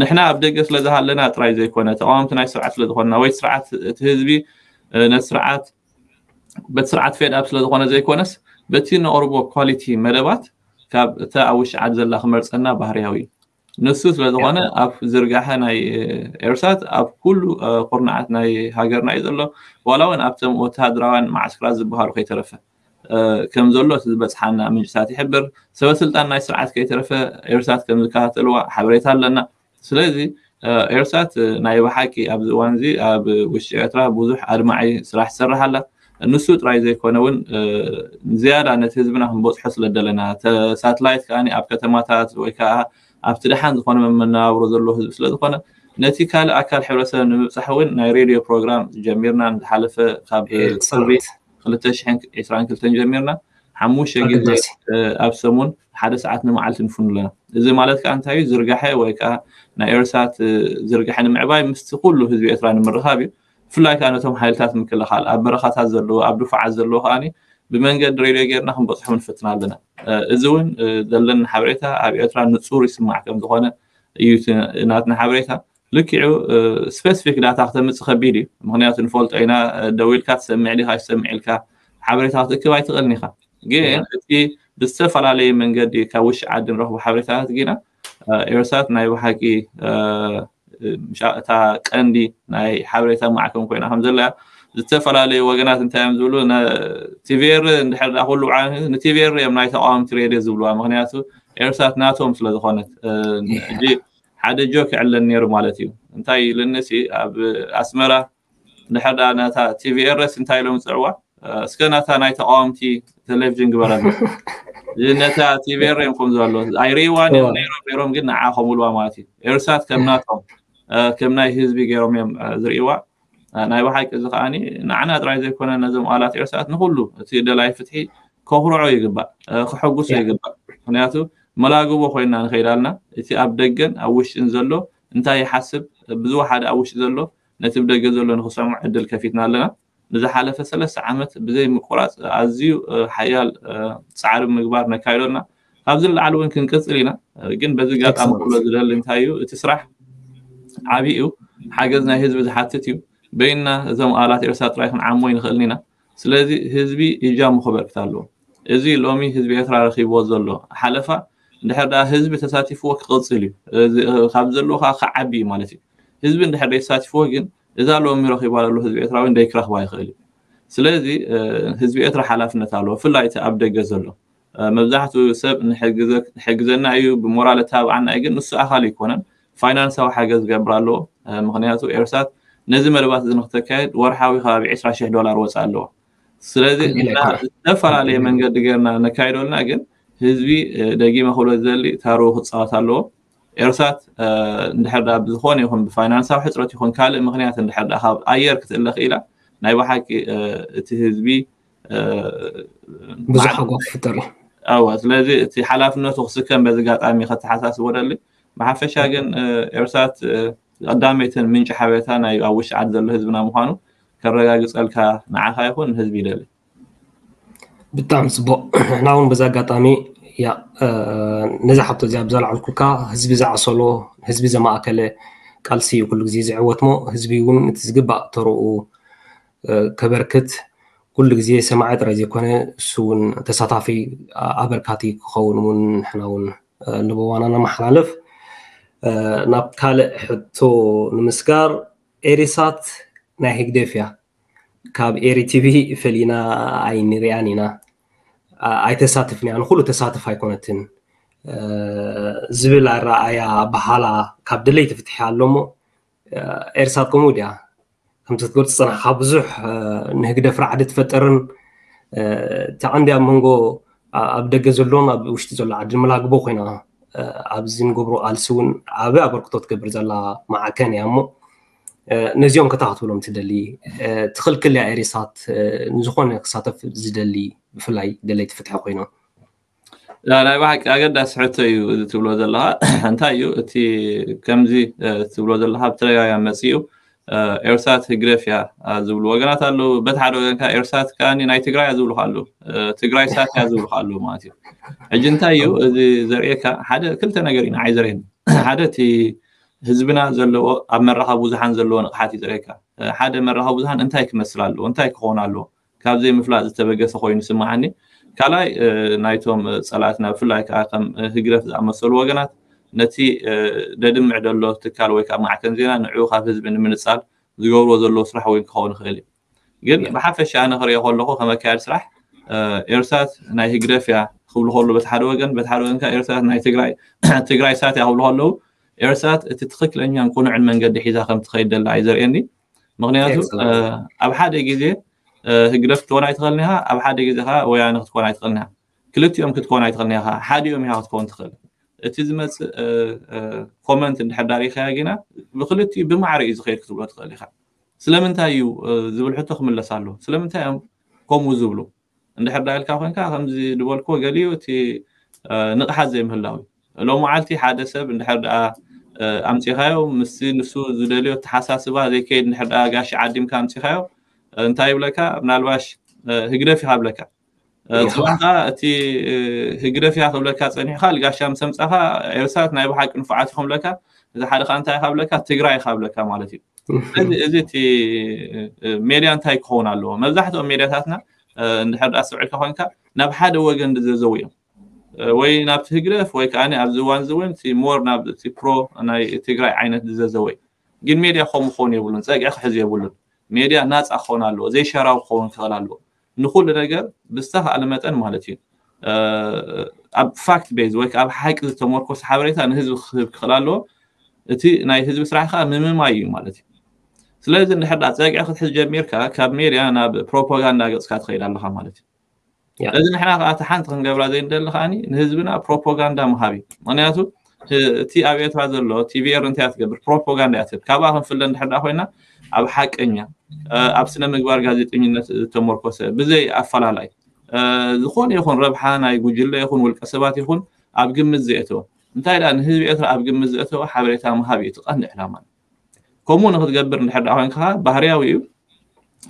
ንሕና ኣብ ደገ ስለ ዝሃለና ጥራይ ዘይኮነ፣ ተቃወምቲ ናይ ስርዓት ስለ ዝኾንና ወይ ስርዓት እቲ ህዝቢ ነቲ ስርዓት በቲ ስርዓት ፌድ ኣፕ ስለ ዝኾነ ዘይኮነስ፣ በቲ ነቕርቦ ኳሊቲ መደባት ካብ እታ ኣብ ውሽጢ ዓዲ ዘላ ክመርጸና ባህርያዊ እዩ። ንሱ ስለ ዝኾነ ኣብ ዝርጋሐ ናይ ኤርሳት ኣብ ኩሉ ኩርናዓት ናይ ሃገርና እዩ ዘሎ። ዋላ እውን ኣብቶም ወተሃደራውያን ማዓስክራት ዝበሃሉ ከይተረፈ ከም ዘሎ እቲ ዝበጽሓና ምንጭታት ይሕብር። ሰበ ስልጣን ናይ ስርዓት ከይተረፈ ኤርሳት ከም ዝከታተልዋ ሓበሬታ ኣለና። ስለዚ ኤርሳት ናይ ብሓቂ ኣብዚ እዋን እዚ ኣብ ውሽጢ ኤርትራ ብዙሕ ኣድማዒ ስራሕ ትሰርሕ ኣላ። ንሱ ጥራይ ዘይኮነ እውን ዝያዳ ነቲ ህዝብና ክንበፅሖ ስለ ደለና፣ ሳትላይት ከዓ ኣብ ከተማታት ወይ ከዓ ኣብቲ ደሓን ዝኾነ መነባብሮ ዘለዎ ህዝቢ ስለ ዝኾነ፣ ነቲ ካልእ ኣካል ሕብረተሰብ ንምብፃሕ እውን ናይ ሬድዮ ፕሮግራም ጀሚርና። ዝሓለፈ ካብ ጥሪ ክልተ ሽሕን ዕስራን ክልተን ጀሚርና ሓሙሽተ ግዜ ኣብ ሰሙን ሓደ ሰዓት ንመዓልቲ ንፍኑ ኣለና። እዚ ማለት ከዓ እንታይ እዩ? ዝርጋሐ ወይ ከዓ ናይ ኤርሳት ዝርጋሐ ንምዕባይ ምስቲ ኩሉ ህዝቢ ኤርትራ ንምርኻብ እዩ። ብፍላይ ከዓ ነቶም ሓይልታት ምክልኻል ኣብ በረኻታት ዘለዎ ኣብ ድፋዓት ዘለዎ ከዓ ብመንገዲ ሬድዮ ጌርና ክንበፅሖም ንፍትና ኣለና። እዚ እውን ዘለና ሓበሬታ ኣብ ኤርትራ ንፁር ይስማዕ ከም ዝኾነ እዩ ናትና ሓበሬታ። ልክዑ ስፔሲፊክ ዳታ ክተምፅእ ከቢድ እዩ። ምክንያቱ ንፈልጦ ኢና። ደዊልካ ትሰምዕ ዲካ ይሰምዕ ኢልካ ሓበሬታ ክትእክብ ኣይትኽእልን ኢካ። ግን እቲ ብዝተፈላለየ መንገዲ ካብ ውሽጢ ዓዲ ንረኽቦ ሓበሬታታት ግና ኤርሳት ናይ ብሓቂ እታ ቀንዲ ናይ ሓበሬታ ማዕከን ኮይና ከም ዘላ ዝተፈላለዩ ወገናት እንታይ እዮም ዝብሉ? ቲቪኤር እንድሕር ዳ ኩሉ ንቲቪኤር እዮም ናይ ተቃወምቲ ሬድዮ ዝብልዋ። ምክንያቱ ኤርሳት ናቶም ስለዝኮነት። ሕጂ ሓደ ጆክ ይዕለን ነይሩ ማለት እዩ። እንታይ ኢልንሲ ኣብ ኣስመራ ድሕር ዳ ነታ ቲቪኤርስ እንታይ ኢሎም ዝፅዕዋ? እስከ ናታ ናይ ተቃወምቲ ቴሌቪዥን ግበረና። ነታ ቲቪኤር እዮም ከም ዘሎ ኣይርእይዋን እዮም ነይሮም ነይሮም ግን ንዓ ከምልዋ ማለት እዩ። ኤርሳት ከም ናቶም ከም ናይ ህዝቢ ገይሮም እዮም ዝርእይዋ። ናይ ብሓቂ እዚ ከዓኒ ንዓና ጥራይ ዘይኮነ ነዞም ኣላት ኤርሳት ንኩሉ እቲ ደላይ ፍትሒ ከኩርዖ ይግባእ፣ ክሐጉሶ ይግባእ። ምክንያቱ መላግቦ ኮይና ንኸይድ ኣለና። እቲ ኣብ ደገን ኣብ ውሽጥን ዘሎ እንታይ ይሓስብ ብዝወሓደ ኣብ ውሽጢ ዘሎ ነቲ ብደገ ዘሎ ንክሰምዑ ዕድል ከፊትና ኣለና። ንዝሓለፈ ሰለስተ ዓመት ብዘይ ምቁራፅ ኣዝዩ ሓያል ፃዕሪ ምግባር ነካይዶ ኣለና። ካብዚ ንላዕሊ እውን ክንቅፅል ኢና። ግን በዚ ጋጣሚ ክብሎ ዝደሊ እንታይ እዩ እቲ ስራሕ ዓብዪ እዩ። ሓገዝ ናይ ህዝቢ ዝሓትት እዩ። በይንና እዞም ኣላት ኤርትራ ጥራይ ክንዓሞ ይንኽእልን ኢና። ስለዚ ህዝቢ እጃሙ ክበርክት ኣለዎ። እዚ ሎሚ ህዝቢ ኤርትራ ረኺብዎ ዘሎ ሓለፋ እንድሕር ደኣ ህዝቢ ተሳቲፍዎ ክቕጽል እዩ። ካብ ዘለዎ ከዓ ክዓቢ እዩ ማለት እዩ። ህዝቢ እንድሕር ዘይተሳቲፍዎ ግን እዛ ሎሚ ረኺባ ዘሎ ህዝቢ ኤርትራ እውን ደይክረኽባ ይኽእል እዩ። ስለዚ ህዝቢ ኤርትራ ሓላፍነት ኣለዎ፣ ብፍላይ እቲ ኣብ ደገ ዘሎ። መብዛሕትኡ ሰብ ንሕግዘና እዩ፣ ብሞራል እተባብዓና እዩ፣ ግን ንሱ ኣኻል ኣይኮነን። ፋይናንሳዊ ሓገዝ ዝገብር ኣለዎ። ምክንያቱ ኤርሳት ነዚ መደባት እዚ ንክተካየድ ወርሓዊ ከባቢ ዕስራ ሽሕ ዶላር ወፃእ ኣለዎ። ስለዚ ዝተፈላለየ መንገዲ ገርና ነካይደልና ግን ህዝቢ ደጊመ ክብሎ ዝደሊ ታሩ ክፃወት ኣለዎ። ኤርሳት እንድሕር ዳ ብዝኮነ ይኹን ብፋይናንሳዊ ሕፅረት ይኹን ካልእ ምክንያት እንድሕር ዳ ካብ ኣየር ክትእለ ክኢላ ናይ ብሓቂ እቲ ህዝቢ ብዙሕ ሓጎስ ክፍጠር እዩ። እወ ስለዚ እቲ ሓላፍነቱ ክስከም በዚ ጋጣሚ ከተሓሳስቦ ደሊ። ብሓፈሻ ግን ኤርሳት ቀዳመይትን ምንጪ ሓበሬታ ናይ ኣብ ውሽጢ ዓዲ ዘሎ ህዝብና ምዃኑ ከረጋግፀልካ ንዓኻ ይኹን ንህዝቢ ይደሊ። ብጣዕሚ ፅቡቅ። ንሕና እውን በዚ ኣጋጣሚ ያ ነዛ ሓቶ እዚኣ ብዘለዓልኩልካ ህዝቢ ዝዓሰሎ ህዝቢ ዘማእከለ ቃልሲ እዩ ኩሉ ግዜ ዝዕወት ሞ ህዝቢ እውን እቲ ዝግባእ ተርኡ ከበርክት ኩሉ ግዜ ሰማዒ ጥራይ ዘይኮነ እሱ እውን ተሳታፊ ኣበርካቲ ክኸውን እውን ንሕና እውን ንበዋና ነመሓላልፍ። ናብ ካልእ ሕቶ ንምስጋር ኤሪሳት ናይ ህግደፍ እያ። ካብ ኤሪ ቲቪ ፈሊና ኣይንሪኣን ኢና። ኣይተሳትፍን እያ፣ ንኩሉ ተሳትፍ ኣይኮነትን ዝብል ኣረኣያ ኣበሃላ ካብ ደለይቲ ፍትሒ ኣሎ እሞ ኤርሳት ከምኡ ድያ? ከምቲ ክትገልፅ ዝፀናሕካ ብዙሕ ንህግደፍ ራዕዲ ትፈጥርን እቲ ቀንዲ ኣብ መንጎ ኣብ ደገ ዘሎን ኣብ ውሽጢ ዘሎ ዓዲ መላግቦ ኮይና ኣብዚ ንገብሮ ቃልሲ እውን ዓቢ ኣበርክቶ ትገብር ዘላ ማዕከን እያ እሞ ነዚኦም ከታ ክትብሎም ትደሊ ትኽልክል እያ ኤሪሳት ንዝኾነ ክሳተፍ ዝደሊ ብፍላይ ደለይቲ ፍትሒ ኮይኖም ናይ ብሓቂ ኣገዳሲ ሕቶ እዩ እዚ ትብሎ ዘለኻ። እንታይ እዩ እቲ ከምዚ ትብሎ ዘለኻ ብተደጋጋሚ መፅኡ ኤርሳት ህግደፍ እያ ዝብሉ ወገናት ኣለዉ። በቲ ሓደ ወገን ከዓ ኤርሳት ከዓ ናይ ትግራይ እያ ዝብሉ ኣለዉ። ትግራይ ሳት እያ ዝብሉ ኣለዉ ማለት እዩ። ሕጂ እንታይ እዩ እዚ ዘርእየካ? ሓደ ክልተ ነገር እዩ ንዓይ ዘርእየኒ። ሓደ እቲ ህዝብና ዘለዎ ኣብ መራኸቢ ብዙሓን ዘለዎ ንቕሓት እዩ ዘርእየካ። ሓደ መራኸቢ ብዙሓን እንታይ ክመስል ኣለዎ፣ እንታይ ክኸውን ኣለዎ ካብ ዘይምፍላጥ ዝተበገሰ ኮይኑ ይስምዓኒ። ካልኣይ ናይቶም ፀላእትና ብፍላይ ከዓ ከም ህግደፍ ዝኣመሰሉ ወገናት ነቲ ደድምዕ ደሎ ትካል ወይ ከዓ ማዕከን ዜና ንዕኡ ካብ ህዝቢ ንምንፃል ዝገብርዎ ዘለዉ ስራሕ እውን ክኸውን ይኽእል እዩ። ግን ብሓፈሻ ኣነ ክሪኦ ከለኹ ከም ኣካያዲ ስራሕ ኤርሳት ናይ ህግደፍ እያ ክብሉ ከሉ በቲ ሓደ ወገን፣ በቲ ሓደ ወገን ከዓ ኤርሳት ናይ ትግራይ ትግራይ ሳት እያ ክብሉ ከለዉ ኤርሳት እቲ ትኽክለኛን ቅኑዕን መንገዲ ሒዛ ከም ትኸይድ ደላ እዩ ዘርእየኒ። ምክንያቱ ኣብ ሓደ ግዜ ህግደፍ ክትኮን ኣይትኽእልን ኢኻ፣ ኣብ ሓደ ግዜ ከዓ ወያነ ክትኮን ኣይትኽእልን ኢኻ። ክልቲኦም ክትኮን ኣይትኽእልን ኢኻ፣ ሓዲኦም ኢኻ ክትኮን ትኽእል። እቲ ዝመፅእ ኮመንት እንድሕር ዳሪእኻያ ግና ብክልቲኡ ብማዕረ እዩ ዝኸይድ ክትብሎ ትኽእል ኢኻ። ስለምንታይ እዩ ዝብል ሕቶ ክምለስ ኣሎ። ስለምንታይ እዮም ከምኡ ዝብሉ? እንድሕር ዳ ኢልካ ኮንካ ከምዚ ዝበልክዎ ገሊኡ እቲ ንቕሓት ዘይምህላው እዩ። ሎም መዓልቲ ሓደ ሰብ እንድሕር ደኣ ኣምፂኻዮ ምስቲ ንሱ ዝደልዮ ተሓሳስባ ዘይከይድ እንድሕር ደኣ ጋሽ ዓዲምካ ኣምፂኻዮ እንታይ ይብለካ? ምናልባሽ ህግደፍ ይሃብለካ። ጽባሕካ እቲ ህግደፍ እያ ክብለካ ጸኒሕካ ልጋሻ ምስ ኣምጻኻ ኤርትራት ናይ ብሓቂ ንፉዓት ኢኹም ብለካ፣ እቲ ሓደ ከኣ እንታይ ኢኻ ብለካ? ትግራይ ኢኻ ብለካ ማለት እዩ። ስለዚ እዚ እቲ ሜድያ እንታይ ክኸውን ኣለዎ? መብዛሕትኦም ሜድያታትና እንድሕር ደኣ ኣስተውዒልካ ኮንካ ናብ ሓደ ወገን ዝዘዘው እዮም። ወይ ናብቲ ህግደፍ ወይ ከኣ ኣብዚ እዋን እዚ እውን እቲ ሞር ናብ እቲ ፕሮ ናይ ትግራይ ዓይነት ዝዘዘው እዩ። ግን ሜድያ ከምኡ ክኸውን የብሉን፣ ጸግዒ ክሕዝ የብሉን። ሜድያ ናጻ ክኸውን ኣለዎ፣ ዘይሸራዊ ክኸውን ክኽእል ኣለዎ። ንኹሉ ነገር ብዝተኻእለ መጠን ማለት እዩ ኣብ ፋክት ቤዝ ወይ ኣብ ሓቂ ዝተመርኮሰ ሓበሬታ ንህዝቢ ክህብ ክኽእል ኣለዎ። እቲ ናይ ህዝቢ ስራሕ ከዓ ምምማይ እዩ ማለት እዩ። ስለዚ እንድሕር ዳ ጸግዒ ክትሕዝ ጀሚርካ ካብ ሜድያ ናብ ፕሮፓጋንዳ ገጽካ ትኸይድ ኣለኻ ማለት እዩ። ስለዚ ንሕና ከዓ እቲ ሓንቲ ክንገብራ ዘይንደሊ ከዓኒ ንህዝብና ፕሮፓጋንዳ ምሃብ እዩ። ምክንያቱ እቲ ኣብ ኤርትራ ዘሎ ቲቪኤር እንታይ እያ ትገብር? ፕሮፓጋንዳ እያ ትህብ። ካብኣ ክንፍለ እንድሕር ዳ ኮይና ኣብ ሓቀኛ ኣብ ስነ ምግባር ጋዜጠኝነት ዝተመርኮሰ ብዘይ ኣፈላላይ ዝኾነ ይኹን ረብሓ ናይ ጉጅለ ይኹን ውልቀ ሰባት ይኹን ኣብ ግምት ዘእተወ እንታይ ዳ ንህዝቢ ኤርትራ ኣብ ግምት ዘእተወ ሓበሬታ ምሃብ እዩ እቲ ቀንዲ ዕላማ። ከምኡ ንክትገብር እንድሕር ዳ ኮይንካ ባህርያዊ እዩ።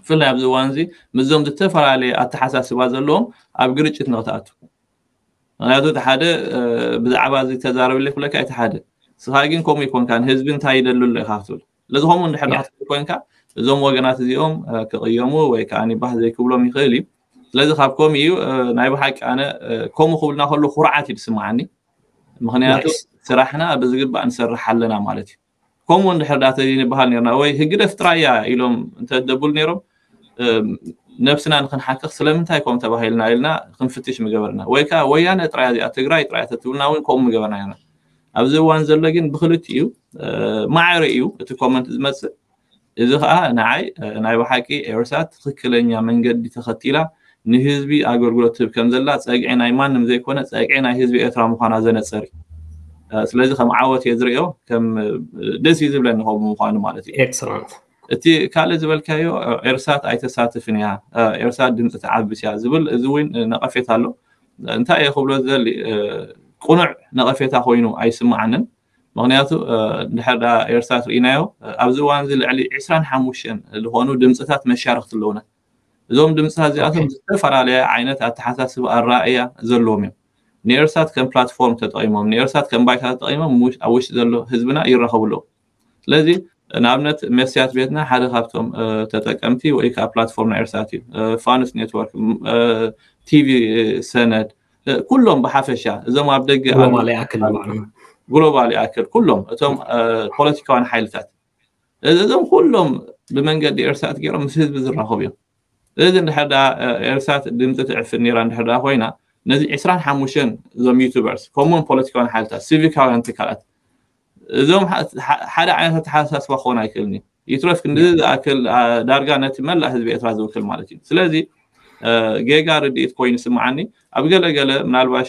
ብፍላይ ኣብዚ እዋን እዚ ምስዞም ዝተፈላለየ ኣተሓሳስባ ዘለዎም ኣብ ግርጭት ንክትኣቱ። ምክንያቱ እቲ ሓደ ብዛዕባ እዚ ተዛረብለ ክብለካ እቲ ሓደ ስኻ ግን ከምኡ ይኮንካ ንህዝቢ እንታይ ይደሉ ኣሎ ኢኻ ክትብል ስለዚ ከምኡ እንድሕር ክትብል ኮይንካ እዞም ወገናት እዚኦም ክቕየሙ ወይ ከዓ ባህ ዘይክብሎም ይኽእል እዩ። ስለዚ ካብ ከምኡ እዩ ናይ ብሓቂ ኣነ ከምኡ ክብልና ከሎ ኩርዓት እዩ ዝስምዓኒ። ምክንያቱ ስራሕና ብዝግባእ ንሰርሕ ኣለና ማለት እዩ። ከምኡ እንድሕር ዳ ተዘይንበሃል ነርና ወይ ህግደፍ ጥራይ እያ ኢሎም እንተደቡል ነይሮም ነብስና ንክንሓክኽ ስለምንታይ ከም ተባሂልና ኢልና ክንፍትሽ ምገበርና ወይ ከዓ ወያነ ጥራይ እዚኣ ትግራይ ጥራይ ተትብልና እውን ከምኡ ምገበርና ኢና። ኣብዚ እዋን ዘሎ ግን ብክልቲኡ ማዕረ እዩ እቲ ኮመንት ዝመፅእ። እዚ ከዓ ንዓይ ናይ ብሓቂ ኤርትራ ትክክለኛ መንገዲ ተኸቲላ ንህዝቢ ኣገልግሎት ትህብ ከም ዘላ ፀግዒ ናይ ማንም ዘይኮነ ፀግዒ ናይ ህዝቢ ኤርትራ ምዃና ዘነፀር እዩ። ስለዚ ከም ዓወት እየ ዝርእዮ ከም ደስ እዩ ዝብለኒ ከምኡ ምዃኑ ማለት እዩ። ኤክሰለንት እቲ ካልእ ዝበልካዮ ኤርሳት ኣይተሳትፍን እያ ኤርሳት ድምፂ ትዓብስ እያ ዝብል እዚ እውን ነቐፌት ኣሎ። እንታይ እየ ክብሎ ዝደሊ ቅኑዕ ነቐፌታ ኮይኑ ኣይስምዓንን። ምክንያቱ ድሕር ዳ ኤርሳት ርኢናዮ ኣብዚ እዋን እዚ ልዕሊ ዕስራን ሓሙሽተን ዝኾኑ ድምፅታት መሻርክቲ ኣለውና። እዞም ድምፅታት እዚኣቶም ዝተፈላለየ ዓይነት ኣተሓሳስብ ኣረኣእያ ዘለዎም እዮም። ንኤርሳት ከም ፕላትፎርም ተጠቂሞም ንኤርሳት ከም ባይታ ተጠቂሞም ኣብ ውሽጢ ዘሎ ህዝብና ይራኸቡ ኣለዉ። ስለዚ ንኣብነት መስያት ቤትና ሓደ ካብቶም ተጠቀምቲ ወይ ከዓ ፕላትፎርም ናይ ኤርሳት እዩ። ፋኑስ ኔትወርክ፣ ቲቪ ሰነድ፣ ኩሎም ብሓፈሻ እዞም ኣብ ደገ ግሎባል ይኣክል ኩሎም እቶም ፖለቲካውያን ሓይልታት እዞም ኩሎም ብመንገዲ ኤርሳት ገይሮም ምስ ህዝቢ ዝራኸቡ እዮም። እዚ እንድሕር ዳ ኤርሳት ድምፂ ትዕፍን ነይራ እንድሕር ዳ ኮይና ነዚ ዕስራን ሓሙሽተን እዞም ዩቱበርስ ከምኡውን ፖለቲካውያን ሓይልታት ሲቪካውያን ትካላት እዞም ሓደ ዓይነት ኣተሓሳስባ ክኾን ኣይክእልን እዩ። ይትረፍ ክንዲ ዝኣክል ዳርጋ ነቲ መላእ ህዝቢ ኤርትራ ዝውክል ማለት እዩ። ስለዚ ጌጋ ርድኢት ኮይኑ ስምዓኒ ኣብ ገለገለ ምናልባሽ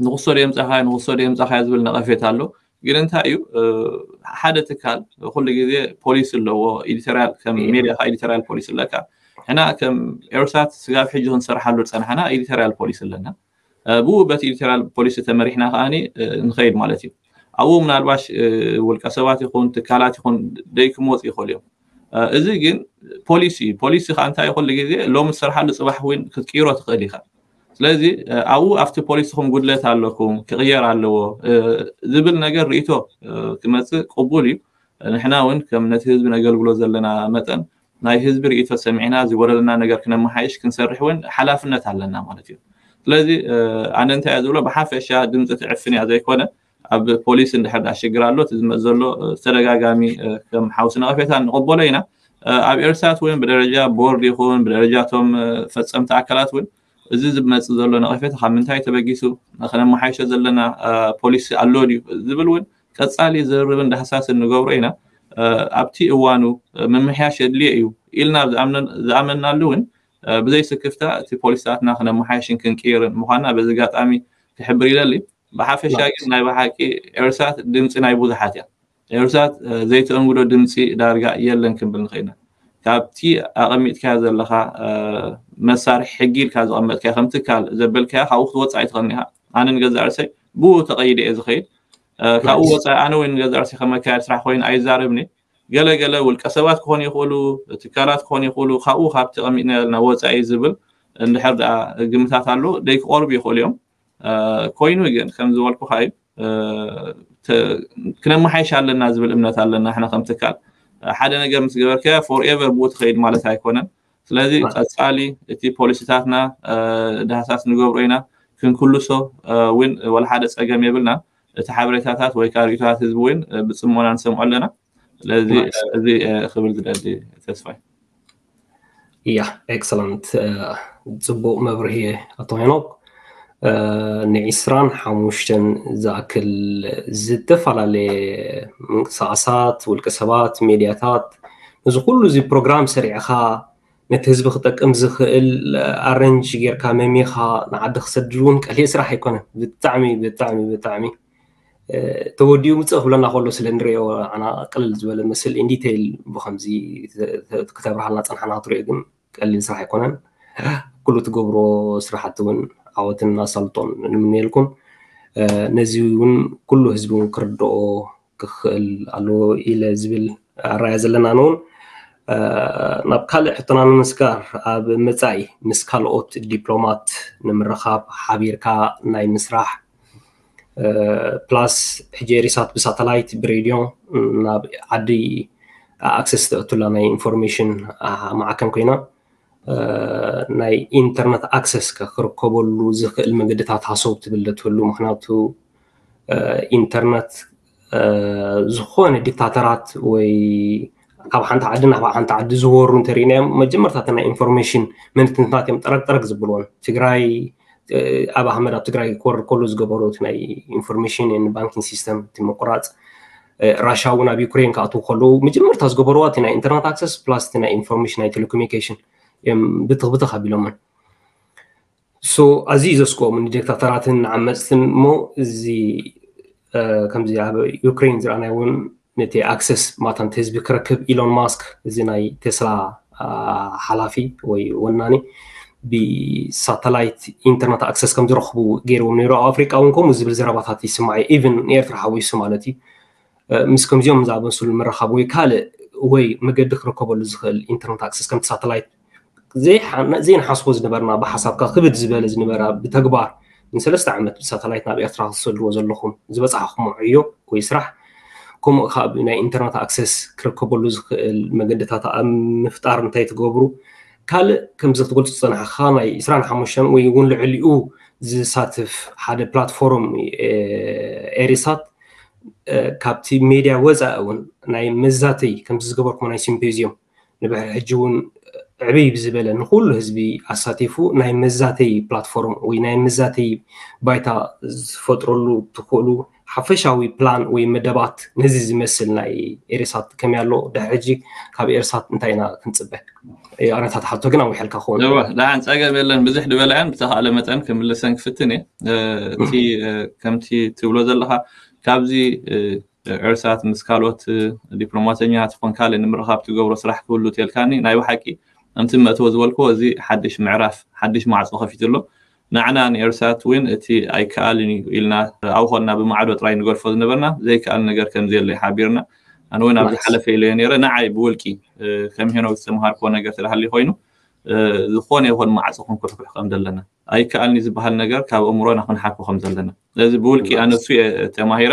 ንክሶ ዶ የምፃኻዮ ንክሶ ዶ የምፃኻዮ ዝብል ነቐፌት ኣሎ። ግን እንታይ እዩ ሓደ ትካል ኩሉ ግዜ ፖሊሲ ኣለዎ። ኤዲቶሪያል ከም ሜድያ ከዓ ኤዲቶሪያል ፖሊሲ ኣለካ። ሕና ከም ኤርሳት ስጋብ ሕጂ ክንሰርሓሉ ዝፀናሕና ኤዲቶሪያል ፖሊሲ ኣለና። ብኡ በቲ ኤዲቶሪያል ፖሊሲ ተመሪሕና ከዓ ንኸይድ ማለት እዩ። ኣብኡ ምናልባሽ ውልቀ ሰባት ይኹን ትካላት ይኹን ደይ ክመፁ ይኽእሉ እዮም። እዚ ግን ፖሊሲ እዩ። ፖሊሲ ከዓ እንታይ ኩሉ ግዜ ሎሚ ዝሰርሓሉ ፅባሕ እውን ክትቅይሮ ትኽእል ኢኻ። ስለዚ ኣብኡ ኣብቲ ፖሊስኹም ጉድለት ኣለኩም ክቕየር ኣለዎ ዝብል ነገር ርእቶ ክመፅእ ቅቡል እዩ። ንሕና እውን ከም ነቲ ህዝቢ ነገልግሎ ዘለና መጠን ናይ ህዝቢ ርእቶ ሰሚዕና ዝጎደለና ነገር ክነመሓይሽ ክንሰርሕ እውን ሓላፍነት ኣለና ማለት እዩ። ስለዚ ኣነ እንታይ እየ ዝብሎ ብሓፈሻ ድምፂ ትዕፍን እያ ዘይኮነ ኣብ ፖሊስ እንድሕር ዳ ሽግር ኣሎ እቲ ዝመፅ ዘሎ ተደጋጋሚ ከም ሓውሲ ነቐፌታ ንቐበሎ ኢና። ኣብ ኤርሳት እውን ብደረጃ ቦርድ ይኹን ብደረጃ እቶም ፈፀምቲ ኣካላት እውን እዚ ዝመፅ ዘሎ ነቐፌታ ካብ ምንታይ ተበጊሱ ክነመሓይሾ ዘለና ፖሊሲ ኣሎ ድዩ ዝብል እውን ቀፃሊ ዝርርብን ዳህሳስን ንገብሮ ኢና። ኣብቲ እዋኑ ምምሕያሽ የድልዮ እዩ ኢልና ዝኣመናሉ እውን ብዘይ ስክፍታ እቲ ፖሊሲታትና ክነመሓይሽን ክንቅይርን ምዃንና በዚ ኣጋጣሚ ክሕብር ይደሊ። ብሓፈሻ ግን ናይ ብሓቂ ኤርሳት ድምፂ ናይ ብዙሓት እያ። ኤርሳት ዘይተእንግዶ ድምፂ ዳርጋ የለን ክንብል ንኽእል ኢና። ካብቲ ኣቐሚጥካዮ ዘለኻ መሳርሒ ሕጊ ኢልካ ዘቐመጥካዮ ከም ትካል ዘበልካዮ ካብኡ ክትወፅእ ኣይትኽእልን ኢኻ። ኣነ ንገዛእ ርእሰይ ብኡ ተቐይደ እየ ዝኸይድ። ካብኡ ወፃኢ ኣነ ወይ ንገዛ ርእሲ ከመካየድ ስራሕ ኮይኑ ኣይዛረብኒ። ገለ ገለ ውልቀ ሰባት ክኾኑ ይኽእሉ፣ ትካላት ክኾኑ ይኽእሉ፣ ካብኡ ካብ ተቐሚጥና ያልና ወፃኢ ዝብል እንድሕር ደኣ ግምታት ኣሎ ደይ ክቐርቡ ይኽእሉ እዮም። ኮይኑ ግን ከም ዝበልኩ ካዩ ክነመሓይሽ ኣለና ዝብል እምነት ኣለና። ሕና ከም ትካል ሓደ ነገር ምስ ገበርከ ፎርኤቨር ብኡ ትኸይድ ማለት ኣይኮነን። ስለዚ ቀፃሊ እቲ ፖሊሲታትና ዳህሳስ ንገብሮ ኢና። ክንክልሶ እውን ወላ ሓደ ፀገም የብልና። እቲ ሓበሬታታት ወይ ከዓ ርእቶታት ህዝቢ እውን ብፅሞና ንሰምዖ ኣለና። ስለዚ እዚ ክብል ዝደሊ ተስፋይ። እያ ኤክሰለንት፣ ፅቡቅ መብርሂ ኣቶ ሄኖክ። ንዒስራን ሓሙሽተን ዝኣክል ዝተፈላለየ ምንቅስቃሳት ውልቀ ሰባት፣ ሜድያታት፣ ነዚ ኩሉ እዚ ፕሮግራም ሰሪዕኻ ነቲ ህዝቢ ክጠቅም ዝኽእል ኣረንጅ ጌርካ መሚኻ ንዓዲ ክሰድድ እውን ቀሊል ስራሕ ኣይኮነን። ብጣዕሚ ብጣዕሚ ብጣዕሚ ተወዲኡ ምፅእ ክብለና ከሎ ስለ ንሪኦ ኣና ቅልል ዝበለ መስል ኢንዲቴይል ብከምዚ ክተብርሃልና ፀንሓና ክትሪኦ ግን ቀሊል ስራሕ ኣይኮነን። ኩሉ ትገብሮ ስራሕቲ እውን ዓወትን ኣሳልጦን ንምንየልኩም። ነዚ እውን ኩሉ ህዝቢ እውን ክርድኦ ክኽእል ኣለዎ ኢለ ዝብል ኣራያ ዘለና ንውን ናብ ካልእ ሕቶና ንምስጋር ኣብ መፃኢ ምስ ካልኦት ዲፕሎማት ንምርኻብ ሓቢርካ ናይ ምስራሕ ፕላስ ሕጂ ኤሪሳት ብሳተላይት ብሬድዮ ናብ ዓዲ ኣክሰስ ተእቱላ ናይ ኢንፎርሜሽን ማዕከን ኮይና ናይ ኢንተርነት ኣክሰስ ክርከበሉ ዝኽእል መንገድታት ሃሰው ትብል ትህሉ። ምክንያቱ ኢንተርነት ዝኾነ ዲክታተራት ወይ ካብ ሓንቲ ዓዲ ናብ ሓንቲ ዓዲ ዝወሩ እንተሪእናዮም መጀመርታ ናይ ኢንፎርሜሽን መንትንታት እዮም ጠረቅጠረቅ ዝብልዎን። ትግራይ ኣብ ኣህመድ ኣብ ትግራይ ክወርድ ከሉ ዝገበሩ ናይ ኢንፎርሜሽን ባንኪንግ ሲስተም እቲ ምቁራፅ፣ ራሻ እውን ኣብ ዩክሬን ክኣትዉ ከለዉ መጀመርታ ዝገበርዋ እቲ ናይ ኢንተርነት ኣክሰስ ፕላስ እቲ ናይ ኢንፎርሜሽን ናይ ቴሌኮሙኒኬሽን እዮም ብትኽ ብትኽ ኣቢሎምን። ሶ ኣዝዩ ዘስክኦም ንዲክታተራትን ንዓመፅትን እሞ እዚ ከምዚ ኣብ ዩክሬን ዝረኣናይ እውን ነቲ ኣክሰስ ማታ ነቲ ህዝቢ ክረክብ ኢሎን ማስክ እዚ ናይ ቴስላ ሓላፊ ወይ ወናኒ ብሳተላይት ኢንተርነት ኣክሰስ ከም ዝረኽቡ ገይርዎም ነይሩ። ኣብ ኣፍሪቃ እውን ከምኡ ዝብል ዘረባታት ይስማዕ እዩ። ኢቭን ንኤርትራ ሓዊሱ ማለት እዩ። ምስ ከምዚኦም ዝኣመሰሉ ምርኻብ ወይ ካልእ ወይ መገዲ ክርከበሉ ዝኽእል ኢንተርነት ኣክሰስ ከምቲ ሳተላይት ዘይንሓስቦ ዝነበርና ብሓሳብካ ክብድ ዝበለ ዝነበራ ብተግባር ንሰለስተ ዓመት ብሳተላይት ናብ ኤርትራ ክትሰድዎ ዘለኹም ዝበፃሕኹም ዕዮ ወይ ስራሕ ከምኡ ካብ ናይ ኢንተርነት ኣክሰስ ክርከበሉ ዝኽእል መገድታት ኣብ ምፍጣር እንታይ ትገብሩ? ካልእ ከምዚ ክትገልፁ ዝፀናሕካ ናይ ዕስራን ሓሙሽተን ወይ እውን ልዕሊኡ ዝሳትፍ ሓደ ፕላትፎርም ኤሪሳት ካብቲ ሜድያ ወፃኢ እውን ናይ መዛተይ ከምዚ ዝገበርኩም ናይ ሲምፖዚየም ንብሕር ሕጂ እውን ዕብይ ብዝበለ ንኩሉ ህዝቢ ኣሳቲፉ ናይ መዛተይ ፕላትፎርም ወይ ናይ መዛተይ ባይታ ዝፈጥረሉ ትኽእሉ ሓፈሻዊ ፕላን ወይ መደባት ነዚ ዝመስል ናይ ኤሪሳት ከመይ ኣሎ? ድሕሪ ሕጂ ካብ ኤሪሳት እንታይ ኢና ክንፅበ? ኣነታት ሓቶ ግን ኣዊሐልካ ክኸውን። ደሓን ፀገም የለን። ብዙሕ ድበላያን ብተኻእለ መጠን ክምልሰን ክፍትን እየ። እቲ ከምቲ ትብሎ ዘለካ ካብዚ ኤርሳት ምስ ካልኦት ዲፕሎማሰኛታት ይኹን ካልእ ንምርኻብ ትገብሮ ስራሕ ክህሉ ተልካኒ ናይ ብሓቂ ከምቲ መእተወ ዝበልክዎ እዚ ሓድሽ ምዕራፍ ሓድሽ ማዕፆ ከፊቱ ኣሎ። ንዓና ንኤርሳት እውን እቲ ኣይከኣልን እዩ ኢልና ኣብኾንና ብማዕዶ ጥራይ ንገድፎ ዝነበርና ዘይከኣል ነገር ከምዘየለ ሓቢርና ኣነ እውን ኣብ ዝሓለፈ ኢለዮ ነረ ንዓይ ብውልቂ ከም ሄኖክ ዝተምሃርክዎ ነገር ተዳሃሊ ኮይኑ ዝኾነ ይኹን ማዕፆ ክንኩሕኩሕ ከም ዘለና ኣይከኣልኒ ዝበሃል ነገር ካብ እምሮና ክንሓኮ ከም ዘለና ስለዚ ብውልቂ ኣነሱ ተማሂረ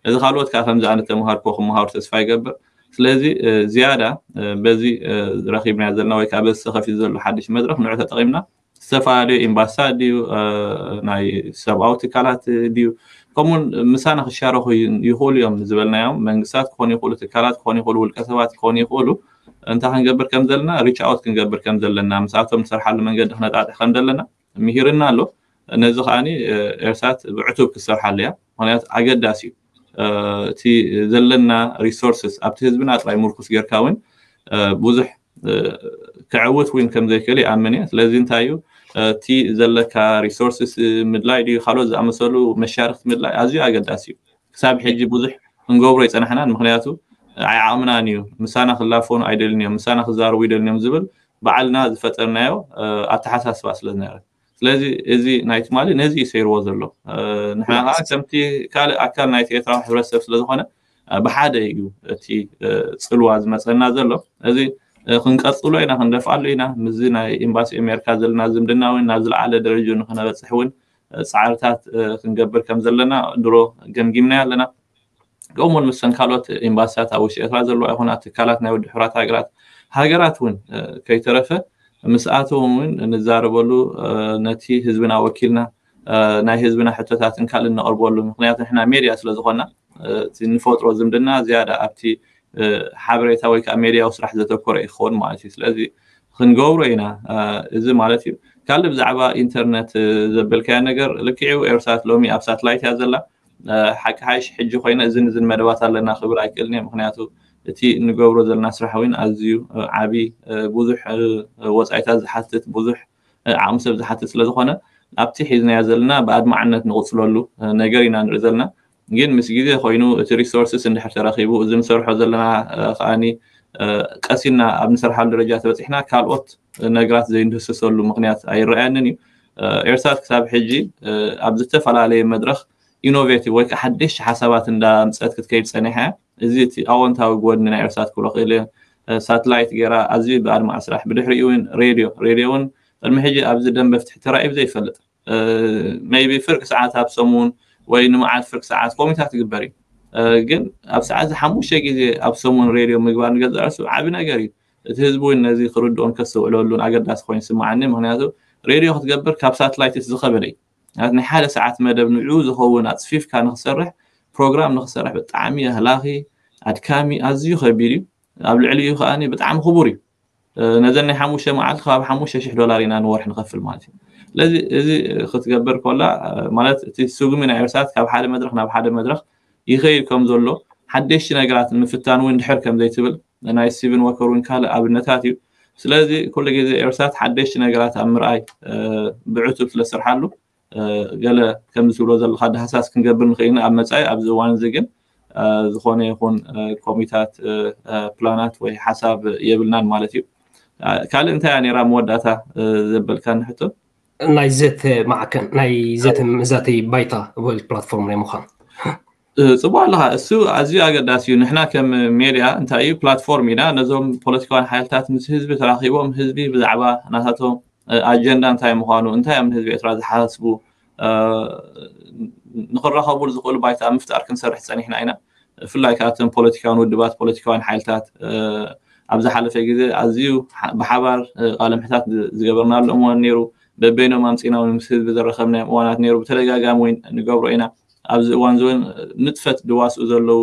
እዚ ካልኦት ከዓ ከምዚ ኣነ ተምሃርክዎ ክመሃሩ ተስፋ ይገብር። ስለዚ ዝያዳ በዚ ረኪብና ዘለና ወይ ከዓ በዚ ተከፊቱ ዘሎ ሓድሽ መድረክ ንዑ ተጠቂምና ዝተፈላለዩ ኤምባሲታት ድዩ ናይ ሰብኣዊ ትካላት ድዩ ከምኡውን ምሳና ክሻረኩ ይኽእሉ እዮም ዝበልናዮም መንግስታት ክኾኑ ይኽእሉ ትካላት ክኾኑ ይኽእሉ ውልቀ ሰባት ክኾኑ ይኽእሉ እንታይ ክንገብር ከም ዘለና ሪች ኣውት ክንገብር ከም ዘለና ምስኣቶም ንሰርሓሉ መንገዲ ክነጣጥሕ ከም ዘለና ምሂርና ኣሎ። ነዚ ከዓኒ ኤርሳት ብዕቱብ ክሰርሓሉ እያ። ምክንያቱ ኣገዳሲ እዩ። እቲ ዘለና ሪሶርስስ ኣብቲ ህዝብና ጥራይ ምርኩስ ጌርካ እውን ብዙሕ ክዕውት እውን ከም ዘይክእል ይኣምን እየ። ስለዚ እንታይ እዩ እቲ ዘለካ ሪሶርስስ ምድላይ ድዩ ካልኦት ዝኣመሰሉ መሻርክቲ ምድላይ ኣዝዩ ኣገዳሲ እዩ። ክሳብ ሕጂ ብዙሕ ክንገብሮ ይፀናሕናን ምክንያቱ ኣይዓቕምናን እዩ። ምሳና ክላፈኑ ኣይደልን እዮም፣ ምሳና ክዛረቡ ይደልን እዮም ዝብል ባዕልና ዝፈጠርናዮ ኣተሓሳስባ ስለ ዝነበረ ስለዚ እዚ ናይ ትማሊ ነዚ እዩ ሰይርዎ ዘሎ። ንሕና ከዓ ከምቲ ካልእ ኣካል ናይቲ ኤርትራዊ ሕብረተሰብ ስለዝኾነ ብሓደ እዩ እቲ ፅልዋ ዝመፀና ዘሎ። እዚ ክንቀፅሎ ኢና፣ ክንደፍኣሉ ኢና። ምስዚ ናይ ኤምባሲ ኣሜሪካ ዘለና ዝምድና እውን ናብ ዝለዓለ ደረጃ ንክነበፅሕ እውን ፃዕርታት ክንገብር ከም ዘለና ድሮ ገምጊምና ኣለና። ከምኡውን ምስን ካልኦት ኤምባሲታት ኣብ ውሽጢ ኤርትራ ዘለዋ ይኹና ትካላት ናይ ውድብ ሕራት ሃገራት ሃገራት እውን ከይተረፈ ምስኣቶም እውን ንዛረበሉ፣ ነቲ ህዝብና ወኪልና ናይ ህዝብና ሕቶታትን ካልእ እነቕርበሉ። ምክንያቱ ንሕና ሜድያ ስለዝኾና እቲ ንፈጥሮ ዝምድና ዝያዳ ኣብቲ ሓበሬታ ወይ ከዓ ሜድያዊ ስራሕ ዘተኮረ ይኸውን ማለት እዩ። ስለዚ ክንገብሮ ኢና። እዚ ማለት እዩ። ካልእ ብዛዕባ ኢንተርነት ዘበልካያ ነገር ልክዕው ኤርሳት ሎሚ ኣብ ሳትላይት እያ ዘላ። ሓቂ ሓይሽ ሕጂ ኮይነ እዝን እዝን መደባት ኣለና ክብል ኣይክእልን እየ። ምክንያቱ እቲ እንገብሮ ዘለና ስራሕ እውን ኣዝዩ ዓብዪ ብዙሕ ወፃኢታት ዝሓትት ብዙሕ ዓቕሚ ሰብ ዝሓትት ስለዝኾነ ኣብቲ ሒዝናዮ ዘለና ብኣድማዕነት ንቕፅለሉ ነገር ኢና ንርኢ ዘለና። ግን ምስ ግዜ ኮይኑ እቲ ሪሶርስስ እንድሕር ተረኺቡ እዚ ንሰርሖ ዘለና ከዓኒ ቀሲና ኣብ ንሰርሓሉ ደረጃ ተበፂሕና ካልኦት ነገራት ዘይንድህስሰሉ ምክንያት ኣይረኣየንን እዩ። ኤርሳት ክሳብ ሕጂ ኣብ ዝተፈላለየ መድረኽ ኢኖቬቲቭ ወይ ከዓ ሓደሽቲ ሓሳባት እንዳምፀት ክትከይድ ፀኒሓ። እዚ እቲ ኣወንታዊ ጎድኒ ናይ ኤርሳት ክብሎ ክእል እየ። ሳትላይት ገይራ ኣዝዩ ብኣድማዕ ስራሕ። ብድሕሪኡ እውን ሬድዮ ሬድዮ እውን ቅድሚ ሕጂ ኣብዚ ደንበ ፍትሒ ተራእዩ ዘይፈልጥ ሜይቢ ፍርቂ ሰዓት ኣብ ሰሙን ወይ ንመዓልቲ ፍርቂ ሰዓት ኮሚታት ይግበር እዩ። ግን ኣብ ሰዓት ሓሙሽተ ግዜ ኣብ ሰሙን ሬድዮ ምግባር ንገዛእ ርእሱ ዓቢ ነገር እዩ። እቲ ህዝቢ እውን ነዚ ክርድኦን ከስተውዕለሉን ኣገዳሲ ኮይኑ ይስምዓኒ። ምክንያቱ ሬድዮ ክትገብር ካብ ሳትላይት እቲ ዝኸበደ እዩ። ናይ ሓደ ሰዓት መደብ ንዕኡ ዝኸውን ኣፅፊፍካ ንክሰርሕ ፕሮግራም ንክሰርሕ ብጣዕሚ ኣህላኺ ኣድካሚ ኣዝዩ ከቢድ እዩ። ኣብ ልዕሊኡ ከዓ ብጣዕሚ ክቡር እዩ። ነዘን ናይ ሓሙሽተ መዓልቲ ከባቢ ሓሙሽተ ሽሕ ዶላር ኢና ንወርሒ ንኸፍል ማለት እዩ። ስለዚ እዚ ክትገብር ኮላ ማለት እቲ ስጉሚ ናይ ኤርሳት ካብ ሓደ መድረክ ናብ ሓደ መድረክ ይኸይድ ከም ዘሎ ሓደሽቲ ነገራት ንምፍታን እውን ድሕር ከም ዘይትብል ናይ ስቲቨን ወከር እውን ካልእ ኣብነታት እዩ። ስለዚ ኩሉ ግዜ ኤርሳት ሓደሽቲ ነገራት ኣብ ምርኣይ ብዕቱብ ስለሰርሓሉ ገለ ከምዚ ትብሎ ዘለካ ዳህሳስ ክንገብር ንኽእል ኢና ኣብ መፃኢ። ኣብዚ እዋን እዚ ግን ዝኾነ ይኹን ኮሚታት ፕላናት ወይ ሓሳብ የብልናን ማለት እዩ። ካልእ እንታይ እያ ነይራ መወዳእታ ዘበልካኒ ሕቶ? ናይ ዘተ ማዕከን ናይ ዘተ መዛተይ ባይታ ወይ ፕላትፎርም ናይ ምዃን ፅቡቅ ኣለካ። እሱ ኣዝዩ ኣገዳሲ እዩ። ንሕና ከም ሜድያ እንታይ እዩ ፕላትፎርም ኢና። ነዞም ፖለቲካውያን ሓይልታት ምስ ህዝቢ ተራኪቦም ህዝቢ ብዛዕባ ናታቶም ኣጀንዳ እንታይ ምዃኑ እንታይ እዮም ንህዝቢ ኤርትራ ዝሓስቡ ንክራኸቡሉ ዝኽእሉ ባይታ ምፍጣር ክንሰርሕ ፀኒሕና ኢና። ብፍላይ ካብቶም ፖለቲካውን ውድባት ፖለቲካውያን ሓይልታት ኣብ ዝሓለፈ ግዜ ኣዝዩ ብሓባር ቃለ ምሕታት ዝገበርናሉ እዋን ነይሩ። በበይኖም ኣምፂና እውን ምስ ህዝቢ ዘረከብናዮም እዋናት ነይሩ። ብተደጋጋሚ ወይ ንገብሮ ኢና። ኣብዚ እዋን እዚ እውን ንጥፈት ድዋስኡ ዘለዉ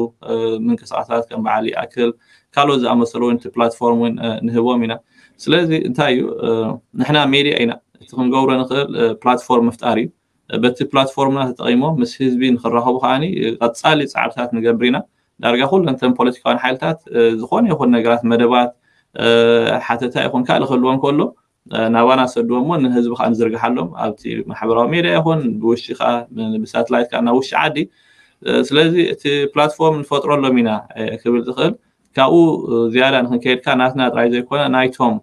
ምንቅስቃሳት ከም በዓል ይኣክል ካልኦት ዝኣመሰሉ እውን እቲ ፕላትፎርም እውን ንህቦም ኢና። ስለዚ እንታይ እዩ ንሕና ሜድያ ኢና። እቲ ክንገብሮ ንኽእል ፕላትፎርም ምፍጣር እዩ። በቲ ፕላትፎርምና ተጠቂሞም ምስ ህዝቢ ንክራኸቡ ከዓኒ ቀፃሊ ፃዕርታት ንገብር ኢና። ዳርጋ ኩለን ተን ፖለቲካውያን ሓይልታት ዝኾነ ይኹን ነገራት መደባት ሓተታ ይኹን ካልእ ክህልዎም ከሎ ናባና ሰድዎ እሞ ንህዝቢ ከዓ ንዝርግሓሎም ኣብቲ ማሕበራዊ ሜድያ ይኹን ብውሽጢ ከዓ ብሳትላይት ከዓ ናብ ውሽጢ ዓዲ። ስለዚ እቲ ፕላትፎርም ንፈጥረሎም ኢና ክብል ዝኽእል። ካብኡ ዝያዳ ንክንከይድ ከዓ ናትና ጥራይ ዘይኮነ ናይቶም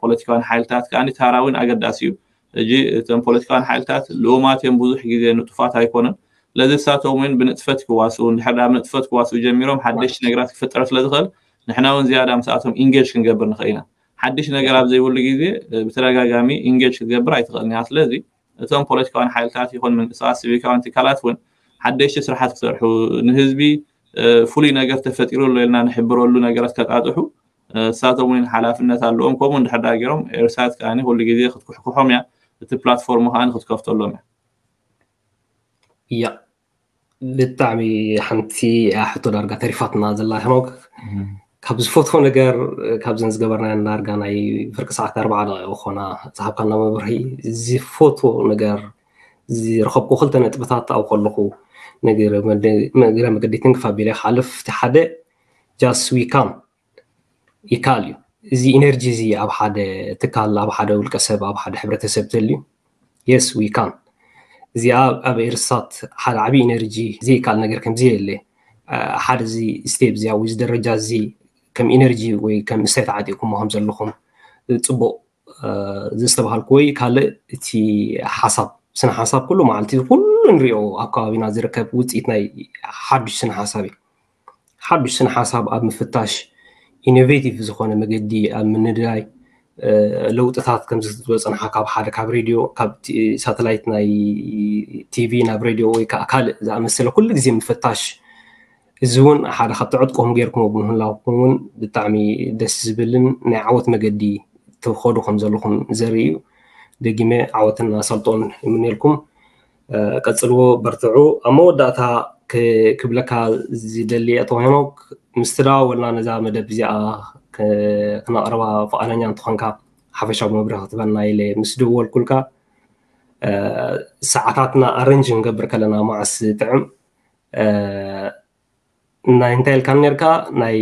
ፖለቲካውያን ሓይልታት ከዓ ታራ እውን ኣገዳሲ እዩ። ሕጂ እቶም ፖለቲካውያን ሓይልታት ልኡማት እዮም፣ ብዙሕ ግዜ ንጡፋት ኣይኮኑን። ስለዚ ንሳቶም እውን ብንጥፈት ክዋስኡ፣ እንድሕር ዳኣ ብንጥፈት ክዋስኡ ጀሚሮም ሓደሽቲ ነገራት ክፍጠር ስለዝኽእል ንሕና እውን ዝያዳ ምስኣቶም ኢንጌጅ ክንገብር ንኽእል ኢና። ሓድሽ ነገር ኣብ ዘይብሉ ግዜ ብተደጋጋሚ ኢንጌጅ ክትገብር ኣይትኽእልን እያ። ስለዚ እቶም ፖለቲካውያን ሓይልታት ይኹን ምንቅስቃስ ሲቪካውያን ትካላት እውን ሓደሽቲ ስራሓት ክሰርሑ፣ ንህዝቢ ፍሉይ ነገር ተፈጢሩ ኣሎ ኢልና ንሕብረሉ ነገራት ከጣጥሑ እሳቶም እውን ሓላፍነት ኣለዎም። ከምኡ እንድሕር ዳኣ ገይሮም ኤርሳት ከዓ ኩሉ ግዜ ክትኩሕኩሖም እያ፣ እቲ ፕላትፎርም ከዓ ክትከፍተሎም እያ። እያ ብጣዕሚ ሓንቲ ሕቶ ዳርጋ ተሪፋትና ዘላ ሄኖክ። ካብ ዝፈትፎ ነገር ካብዘን ዝገበርናየን ዳርጋ ናይ ፍርቂ ሰዓት ኣርባዓ ደቂቕ ዝኾና ዝሃብካና መብርሂ ዝፈትፎ ነገር ዝረኸብኩ ክልተ ነጥብታት ኣብኡ ከለኹ ንግረ መገዲ ትንክፍ ኣቢለ ክሓልፍ እቲ ሓደ just we can ይካል እዩ። እዚ ኢነርጂ እዚ ኣብ ሓደ ትካል ኣብ ሓደ ውልቀ ሰብ ኣብ ሓደ ሕብረተሰብ ተልዩ yes we can እዚኣ ኣብ ኤርሳት ሓደ ዓብዪ ኢነርጂ ዘይካል ነገር ከምዚ የለ ሓደ እዚ ስቴፕ እዚኣ ወይ እዚ ደረጃ እዚ ከም ኢነርጂ ወይ ከም እሳይ ተዓጢቕኩሞ ከም ዘለኹም ፅቡቕ ዘስተባሃልኩ ወይ ካልእ እቲ ሓሳብ ስነ ሓሳብ ኩሉ መዓልቲ ኩሉ ንሪኦ ኣብ ከባቢና ዝርከብ ውፅኢት ናይ ሓዱሽ ስነ ሓሳብ እዩ። ሓዱሽ ስነ ሓሳብ ኣብ ምፍታሽ ኢኖቬቲቭ ዝኾነ መገዲ ኣብ ምንዳይ ለውጥታት ከምዚ ዝበፅንሓ ካብ ሓደ ካብ ሬድዮ ካብ ሳተላይት ናይ ቲቪ ናብ ሬድዮ ወይ ከዓ ካልእ ዝኣመሰለ ኩሉ ግዜ ምፍታሽ እዚ እውን ሓደ ካብ ተዕጥቆም ገይርኩም ብምህላውኩም እውን ብጣዕሚ ደስ ዝብልን ናይ ዓወት መገዲ ትኸዱ ከም ዘለኹም ዘርኢ እዩ። ደጊመ ዓወትን ኣሳልጦን ይምነልኩም። ቀፅልዎ፣ በርትዑ። ኣብ መወዳእታ ክብለካ ዝደሊ ኣቶ ሄኖክ ምስ ተደዋወልና ነዛ መደብ እዚኣ ክነቕርባ ፍቓደኛ እንተኾንካ ሓፈሻዊ መብርሂ ክትበና ኢለ ምስ ደወልኩልካ ሰዓታትና ኣረንጅ ክንገብር ከለና መዓስ ጥዕም ናይ እንታይ ኢልካ ነርካ ናይ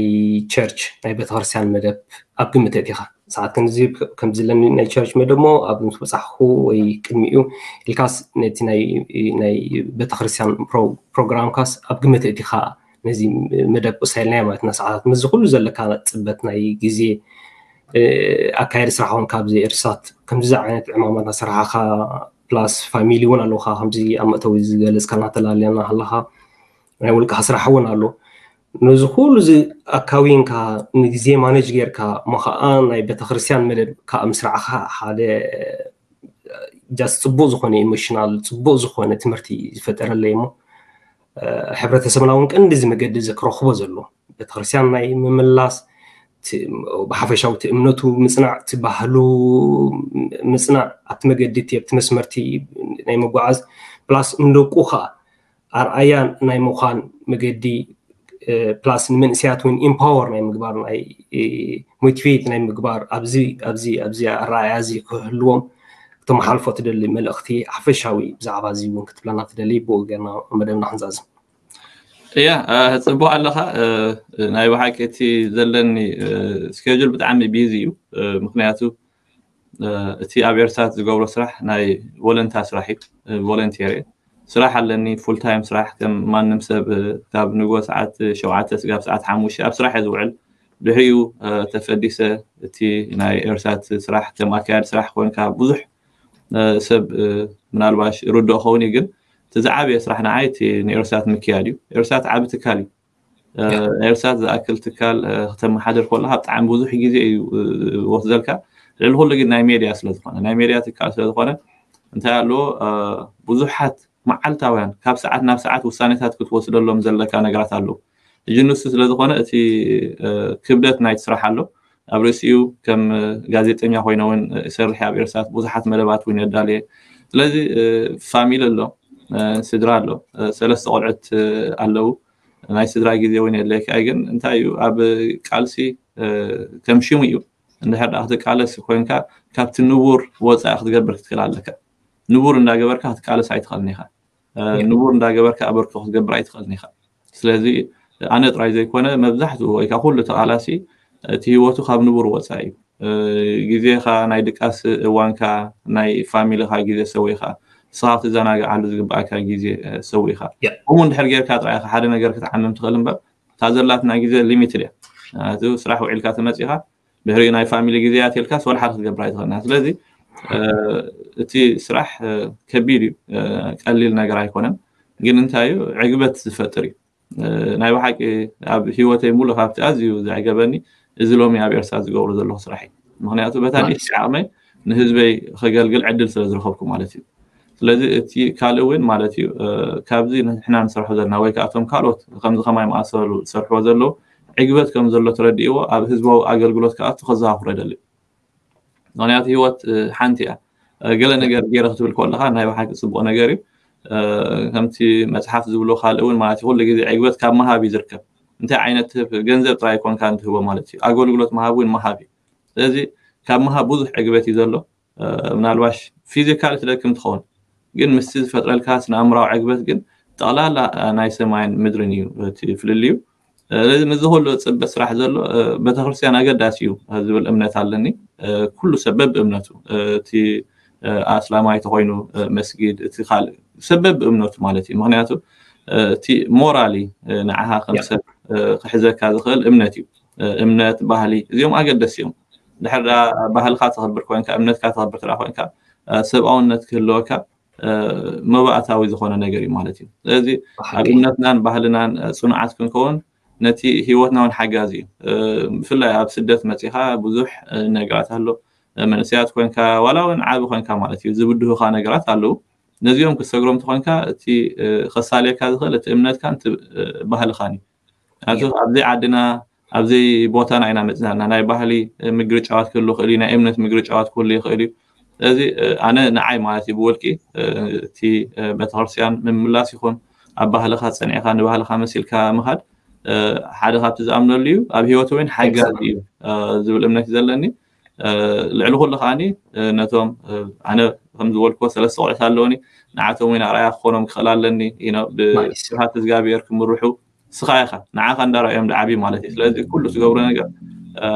ቸርች ናይ ቤተክርስትያን መደብ ኣብ ግምት እቲኻ ሰዓት ከምዚ ለኒ ናይ ቸርች መደብ ሞ ኣብ ምስ በፃሕኩ ወይ ቅድሚኡ ኢልካስ ነቲ ናይ ቤተክርስትያን ፕሮግራምካስ ኣብ ግምት እቲኻ ነዚ መደብ ቁሳይልናዮ ማለት ና ሰዓታት ምስዚ ኩሉ ዘለካ ፅበት ናይ ግዜ ኣካየዲ ስራሕ ውን ካብዚ ኤርሳት ከምዚ ዓይነት ዕማማት ናሰራሓኻ ፕላስ ፋሚሊ እውን ኣለውካ ከምዚ ኣብ መእተዊ ዝገለፅካ እናተላለየና ኣለካ ናይ ውልቃ ስራሕ እውን ኣሎ ነዚ ኩሉ እዚ ኣካዊንካ ንግዜ ማነጅ ጌርካ እሞ ከዓ ናይ ቤተክርስትያን መደብ ከዓ ምስራዕካ ሓደ ጃስ ፅቡቅ ዝኾነ ኢሞሽናል ፅቡቅ ዝኾነ ትምህርቲ ዝፈጠረለይ እሞ ሕብረተሰብና እውን ቀንዲ እዚ መገዲ እዚ ክረኽቦ ዘሎ ቤተክርስትያን ናይ ምምላስ ብሓፈሻዊ እቲ እምነቱ ምፅናዕ እቲ ባህሉ ምፅናዕ ኣብቲ መገዲ እቲ ኣብቲ መስመርቲ ናይ ምጓዓዝ ፕላስ ንደቁ ከዓ ኣርኣያ ናይ ምዃን መገዲ ፕላስ ንመንእሰያት እውን ኢምፓወር ናይ ምግባር ናይ ሞቲቬት ናይ ምግባር ኣብዚ ኣብዚ ኣብዚ ኣረኣያ እዚ ክህልዎም ክተመሓልፎ ትደሊ መልእኽቲ ሓፈሻዊ ብዛዕባ እዚ እውን ክትብለና ትደሊ ብኡ ገና መደብና ክንዛዝም እያ ጽቡቅ ኣለኻ ናይ ብሓቂ እቲ ዘለኒ ስኬጁል ብጣዕሚ ቢዚ እዩ ምክንያቱ እቲ ኣብ ኤርትራ ዝገብሮ ስራሕ ናይ ቮለንታ ስራሕ እዩ ቮለንቲር ስራሕ ኣለኒ ፉል ታይም ስራሕ ከም ማንም ሰብ ካብ ንጎ ሰዓት ሸውዓተ ስጋብ ሰዓት ሓሙሽተ ኣብ ስራሕ እየ ዝውዕል ድሕሪኡ ተፈዲሰ እቲ ናይ ኤርሳት ስራሕ ከም ኣካያዲ ስራሕ ኮንካ ብዙሕ ሰብ ምናልባሽ ርድኦ ኸውን እዩ ግን እቲ ዝዓበየ ስራሕ ንዓይ እቲ ንኤርሳት ምክያድ እዩ ኤርሳት ዓቢ ትካል እዩ ኤርሳት ዝኣክል ትካል ከተመሓድር ከለካ ብጣዕሚ ብዙሕ ግዜ እዩ ወስደልካ ልዕሊ ኩሉ ግን ናይ ሜድያ ስለዝኮነ ናይ ሜድያ ትካል ስለዝኮነ እንታይ ኣለዎ ብዙሓት መዓልታውያን ካብ ሰዓት ናብ ሰዓት ውሳኔታት ክትወስደሎም ዘለካ ነገራት ኣለዉ ሕጂ ንሱ ስለዝኮነ እቲ ክብደት ናይቲ ስራሕ ኣሎ ኣብ ርእሲኡ ከም ጋዜጠኛ ኮይነ እውን ሰርሕ ኣብ ኤርሳት ብዙሓት መደባት እውን የዳልየ ስለዚ ፋሚሊ ኣሎ ስድራ ኣሎ ሰለስተ ቆልዑት ኣለዉ ናይ ስድራ ግዜ እውን የድለየካ እዩ ግን እንታይ እዩ ኣብ ቃልሲ ከም ሽሙ እዩ እንድሕር ደኣ ክትቃለስ ኮይንካ ካብቲ ንቡር ወፃኢ ክትገብር ክትክእል ኣለካ ንቡር እንዳገበርካ ክትቃለስ ኣይትኽእልን ኢኻ ንቡር እንዳገበርካ ኣበርክቶ ክትገብር ኣይትኽእልን ኢኻ ስለዚ ኣነ ጥራይ ዘይኮነ መብዛሕትኡ ወይ ከዓ ኩሉ ተቃላሲ እቲ ህይወቱ ካብ ንቡር ወፃኢ እዩ ግዜኻ ናይ ድቃስ እዋንካ ናይ ፋሚሊኻ ግዜ ሰዊኻ ንስኻ ክትዘናግዓሉ ዝግባኣካ ግዜ ሰዊኻ ከምኡ እንድሕር ጌርካ ጥራይ ሓደ ነገር ክትዓምም ትኽእል እምበር እታ ዘላትና ግዜ ሊሚትድ እያ ስራሕ ውዒልካ ተመፂኻ ድሕሪኡ ናይ ፋሚሊ ግዜያት ኢልካ ወላ ሓደ ክትገብር ኣይትኽእልና ስለዚ እቲ ስራሕ ከቢድ እዩ ቀሊል ነገር ኣይኮነን ግን እንታይ እዩ ዕግበት ዝፈጥር እዩ ናይ ብሓቂ ኣብ ሂወተይ ሙሉ ካብቲ ኣዝዩ ዘዕገበኒ እዚ ሎሚ ኣብ ኤርትራ ዝገብሮ ዘለኹ ስራሕ እዩ ምክንያቱ በታ ንእሽቲ ዓቕመይ ንህዝበይ ከገልግል ዕድል ስለ ዝረኸብኩ ማለት እዩ ስለዚ እቲ ካልእ እውን ማለት እዩ ካብዚ ንሕና ንሰርሖ ዘለና ወይ ከዓ እቶም ካልኦት ከምዚ ከማይ መኣሰሉ ዝሰርሕዎ ዘለዉ ዕግበት ከም ዘሎ ተረዲእዎ ኣብ ህዝባዊ ኣገልግሎት ክኣቱ ከዘኻኽሮ ይደሊ ምክንያቱ ህይወት ሓንቲ እያ ገለ ነገር ገይረ ክትብል ከለካ ናይ ብሓቂ ፅቡቅ ነገር እዩ ከምቲ መፅሓፍ ዝብሎ ካልእ እውን ማለት ኩሉ ግዜ ዕግበት ካብ መሃብ እዩ ዝርከብ እንታይ ዓይነት ትህብ ገንዘብ ጥራይ ኮንካ እንትህቦ ማለት እዩ ኣገልግሎት መሃብ እውን መሃብ እዩ ስለዚ ካብ መሃብ ብዙሕ ዕግበት እዩ ዘሎ ምናልባሽ ፊዚካሊ ትደክም ትኸውን ግን ምስቲ ዝፈጥረልካ ስነ ኣእምራዊ ዕግበት ግን ጠቕላላ ናይ ሰማይን ምድርን እዩ እቲ ፍልልዩ ስለዚ ምዚ ኩሉ ፅበት ስራሕ ዘሎ ቤተክርስትያን ኣገዳሲ እዩ ዝብል እምነት ኣለኒ ኩሉ ሰብ በብእምነቱ እቲ ኣስላማይ ተኮይኑ መስጊድ እቲ ካልእ ሰብ በብእምነቱ ማለት እዩ ምክንያቱ እቲ ሞራሊ ንዓኻ ከም ሰብ ክሕዘካ ዝኽእል እምነት እዩ እምነት ባህሊ እዚኦም ኣገደሲ እዮም ድሕር ዳ ባህልካ ተኽብር ኮይንካ፣ እምነትካ ተኽብር ትዳ ኮይንካ፣ ሰብኣውነት ክህልወካ መባእታዊ ዝኾነ ነገር እዩ ማለት እዩ። ስለዚ ኣብ እምነትናን ባህልናን ፅኑዓት ክንከውን ነቲ ህይወትና እውን ሓጋዚ እዩ። ብፍላይ ኣብ ስደት መፂኻ ብዙሕ ነገራት ኣሎ። መንእሰያት ኮይንካ ዋላ እውን ዓቢ ኮይንካ ማለት እዩ ዝብድሁኻ ነገራት ኣለዉ። ነዚኦም ክሰግሮም ተኾንካ እቲ ከሳልየካ ዝኽእል እቲ እምነትካን እቲ ባህልኻን እዩ። ኣብዘይ ዓድና ኣብዘይ ቦታና ኢና መፅናና ናይ ባህሊ ምግርጫዋት ክህሉ ይኽእል እዩ፣ ናይ እምነት ምግርጫዋት ክህሉ ይኽእል እዩ። ስለዚ ኣነ ንዓይ ማለት እዩ ብወልቂ እቲ ቤተክርስትያን ምምላስ ይኹን ኣብ ባህልኻ ፀኒዕካ ንባህልኻ መሲልካ ምኻድ ሓደ ካብቲ ዝኣምነሉ እዩ። ኣብ ህይወት እውን ሓጋዚ እዩ ዝብል እምነት እዩ ዘለኒ። ልዕሊ ኩሉ ከዓኒ ነቶም ኣነ ከም ዝበልኩዎ ሰለስተ ቆልዑት ኣለውኒ። ንዓቶም እውን ኣርኣያ ክኾኖም ክኽእል ኣለኒ። ብስብሃት እግዚኣብሔር ክምርሑ ስኻ ኢኻ ንዓኻ እንዳረኣዮም ድዓቢ ማለት እዩ። ስለዚ ኩሉ ትገብሮ ነገር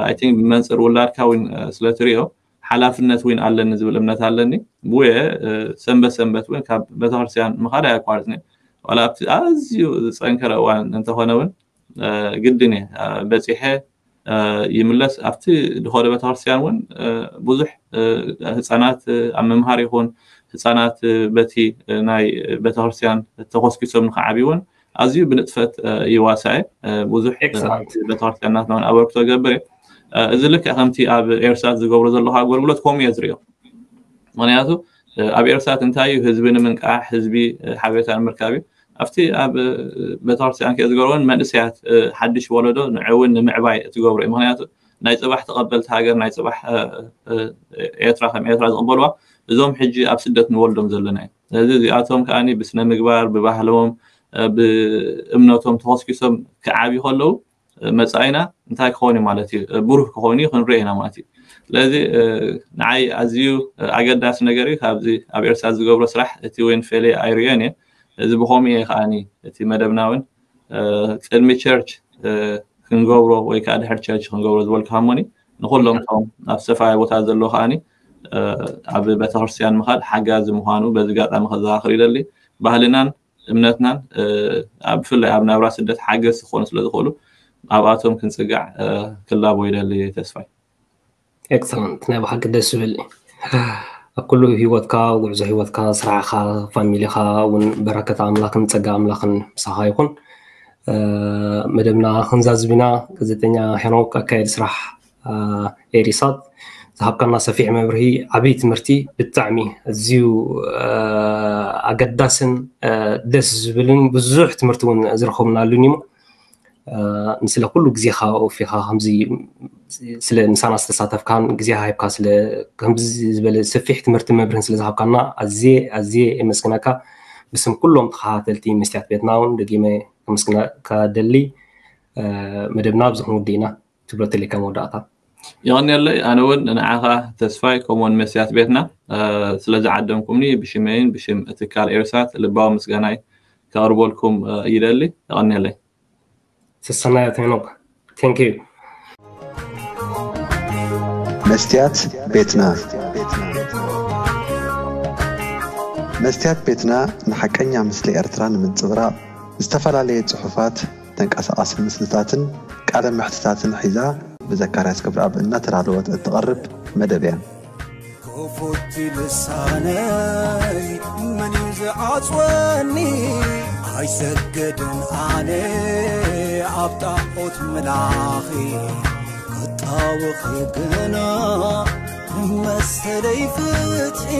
ኣይ ቲንክ ብመንፅር ውላድካ እውን ስለ ትሪኦ ሓላፍነት እውን ኣለኒ ዝብል እምነት ኣለኒ። ብወየ ሰንበት ሰንበት እውን ካብ ቤተክርስትያን ምኻድ ኣያቋርፅኒ። ዋላ ኣብቲ ኣዝዩ ዝፀንከረ እዋን እንተኾነ እውን ግድን እየ በፂሐ ይምለስ። ኣብቲ ድኾደ ቤተክርስትያን እውን ብዙሕ ህፃናት ኣብ ምምሃር ይኹን ህፃናት በቲ ናይ ቤተክርስትያን ተኮስኪሶም ንክዓብዩ እውን ኣዝዩ ብንጥፈት ይዋሳእ ብዙሕ ቤተክርስትያን ናትና እውን ኣበርክቶ ገብር እየ። እዚ ልክዕ ከምቲ ኣብ ኤርሳት ዝገብሮ ዘለኹ ኣገልግሎት ከምኡ እየ ዝሪኦ። ምክንያቱ ኣብ ኤርሳት እንታይ እዩ ህዝቢ ንምንቃሕ ህዝቢ ሓበሬታ ንምርካብ እዩ። ኣብቲ ኣብ ቤተክርስትያን ከ ዝገብሮን መንእሰያት ሓድሽ ወለዶ ንዕውን ንምዕባይ ትገብሮ እዩ። ምክንያቱ ናይ ፅባሕ ተቐበልቲ ሃገር ናይ ፅባሕ ኤርትራ ከም ኤርትራ ዝቕበልዋ እዞም ሕጂ ኣብ ስደት ንወልዶም ዘለና እዩ። ስለዚ እዚኣቶም ከዓኒ ብስነ ምግባር ብባህሎም ብእምነቶም ተኸስኪሶም ክዓብዩ ከለዉ መፃኢና እንታይ ክኸውን እዩ ማለት እዩ? ብሩህ ክኸውን እዩ ክንርኢ ኢና ማለት እዩ። ስለዚ ንዓይ ኣዝዩ ኣገዳሲ ነገር እዩ ካብዚ ኣብ ኤርትራ ዝገብሮ ስራሕ እቲ ወይን ፌሌ ኣይርእዮን እየ። እዚ ብኸምኡ እየ ከዓኒ እቲ መደብና እውን ቅድሚ ቸርች ክንገብሮ ወይ ከዓ ድሕር ቸርች ክንገብሮ ዝበልኩ ሃሞኒ ንኩሎም ቶም ኣብ ዝተፈላለየ ቦታ ዘለዉ ከዓኒ ኣብ ቤተክርስትያን ምኻድ ሓጋዚ ምዃኑ በዚ ጋጣሚ ከዘኻኽር ይደሊ። ባህልናን እምነትናን ብፍላይ ኣብ ናብራ ስደት ሓገዝ ክኾኑ ስለ ዝኽእሉ ኣብኣቶም ክንፅጋዕ ክላቦ ይደሊ ተስፋይ። ኤክሰለንት ናይ ብሓቂ ደስ ዝብል ኣብ ኩሉ ህይወትካ ጉዕዞ ህይወትካ ስራሕኻ ፋሚሊኻ እውን በረከት ኣምላኽን ፀጋ ኣምላኽን ምሳኻ ይኹን። መደብና ክንዛዝብ ኢና። ጋዜጠኛ ሄኖክ ኣካየዲ ስራሕ ኤሪሳት ዝሃብካና ሰፊሕ መብርሂ ዓብይ ትምህርቲ ብጣዕሚ ኣዝዩ ኣገዳስን ደስ ዝብልን ብዙሕ ትምህርቲ እውን ዝረኸብናሉን እዩ። ንስለ ኩሉ ግዜኻ ወፊኻ ከምዚ ስለ ምሳና ዝተሳተፍካን ግዜ ሃይብካ ስለ ከምዚ ዝበለ ሰፊሕ ትምህርቲ መብርህን ስለ ዝሃብካና ኣዝየ ኣዝየ የመስግነካ። ብስም ኩሎም ተኸታተልቲ መስትያት ቤትና እውን ደጊመ ከመስግነካ ደሊ። መደብና ኣብዚ ክንውዲ ኢና። ትብሎ ተሊካ መወዳእታ። የቐንየለይ። ኣነ እውን ንዓኻ ተስፋይ ከምኡውን መስያት ቤትና ስለዚ ዓደምኩምኒ ብሽመይን ብሽም ትካል ኤርሳት ልባዊ ምስጋናይ ከቕርበልኩም ይደሊ። የቐንየለይ። ሰሰናዮት ሄኖክ። Thank you። መስትያት ቤትና መስትያት ቤትና ንሓቀኛ ምስሊ ኤርትራ ንምንጽብራቕ ዝተፈላለየ ጽሑፋት፣ ተንቀሳቓሲ ምስልታትን ቃለ መሕትታትን ሒዛ ብዘካርያስ ክብረኣብ እናተዳለወት እትቐርብ መደብ እያ። ክፉት ልሳነይ መን እዩ ዝዓጽወኒ? ኣይሰግድን ኣነ ኣብ ጣዖት ምላኺ ክጣወኺ ግና መሰለይ ፍትሒ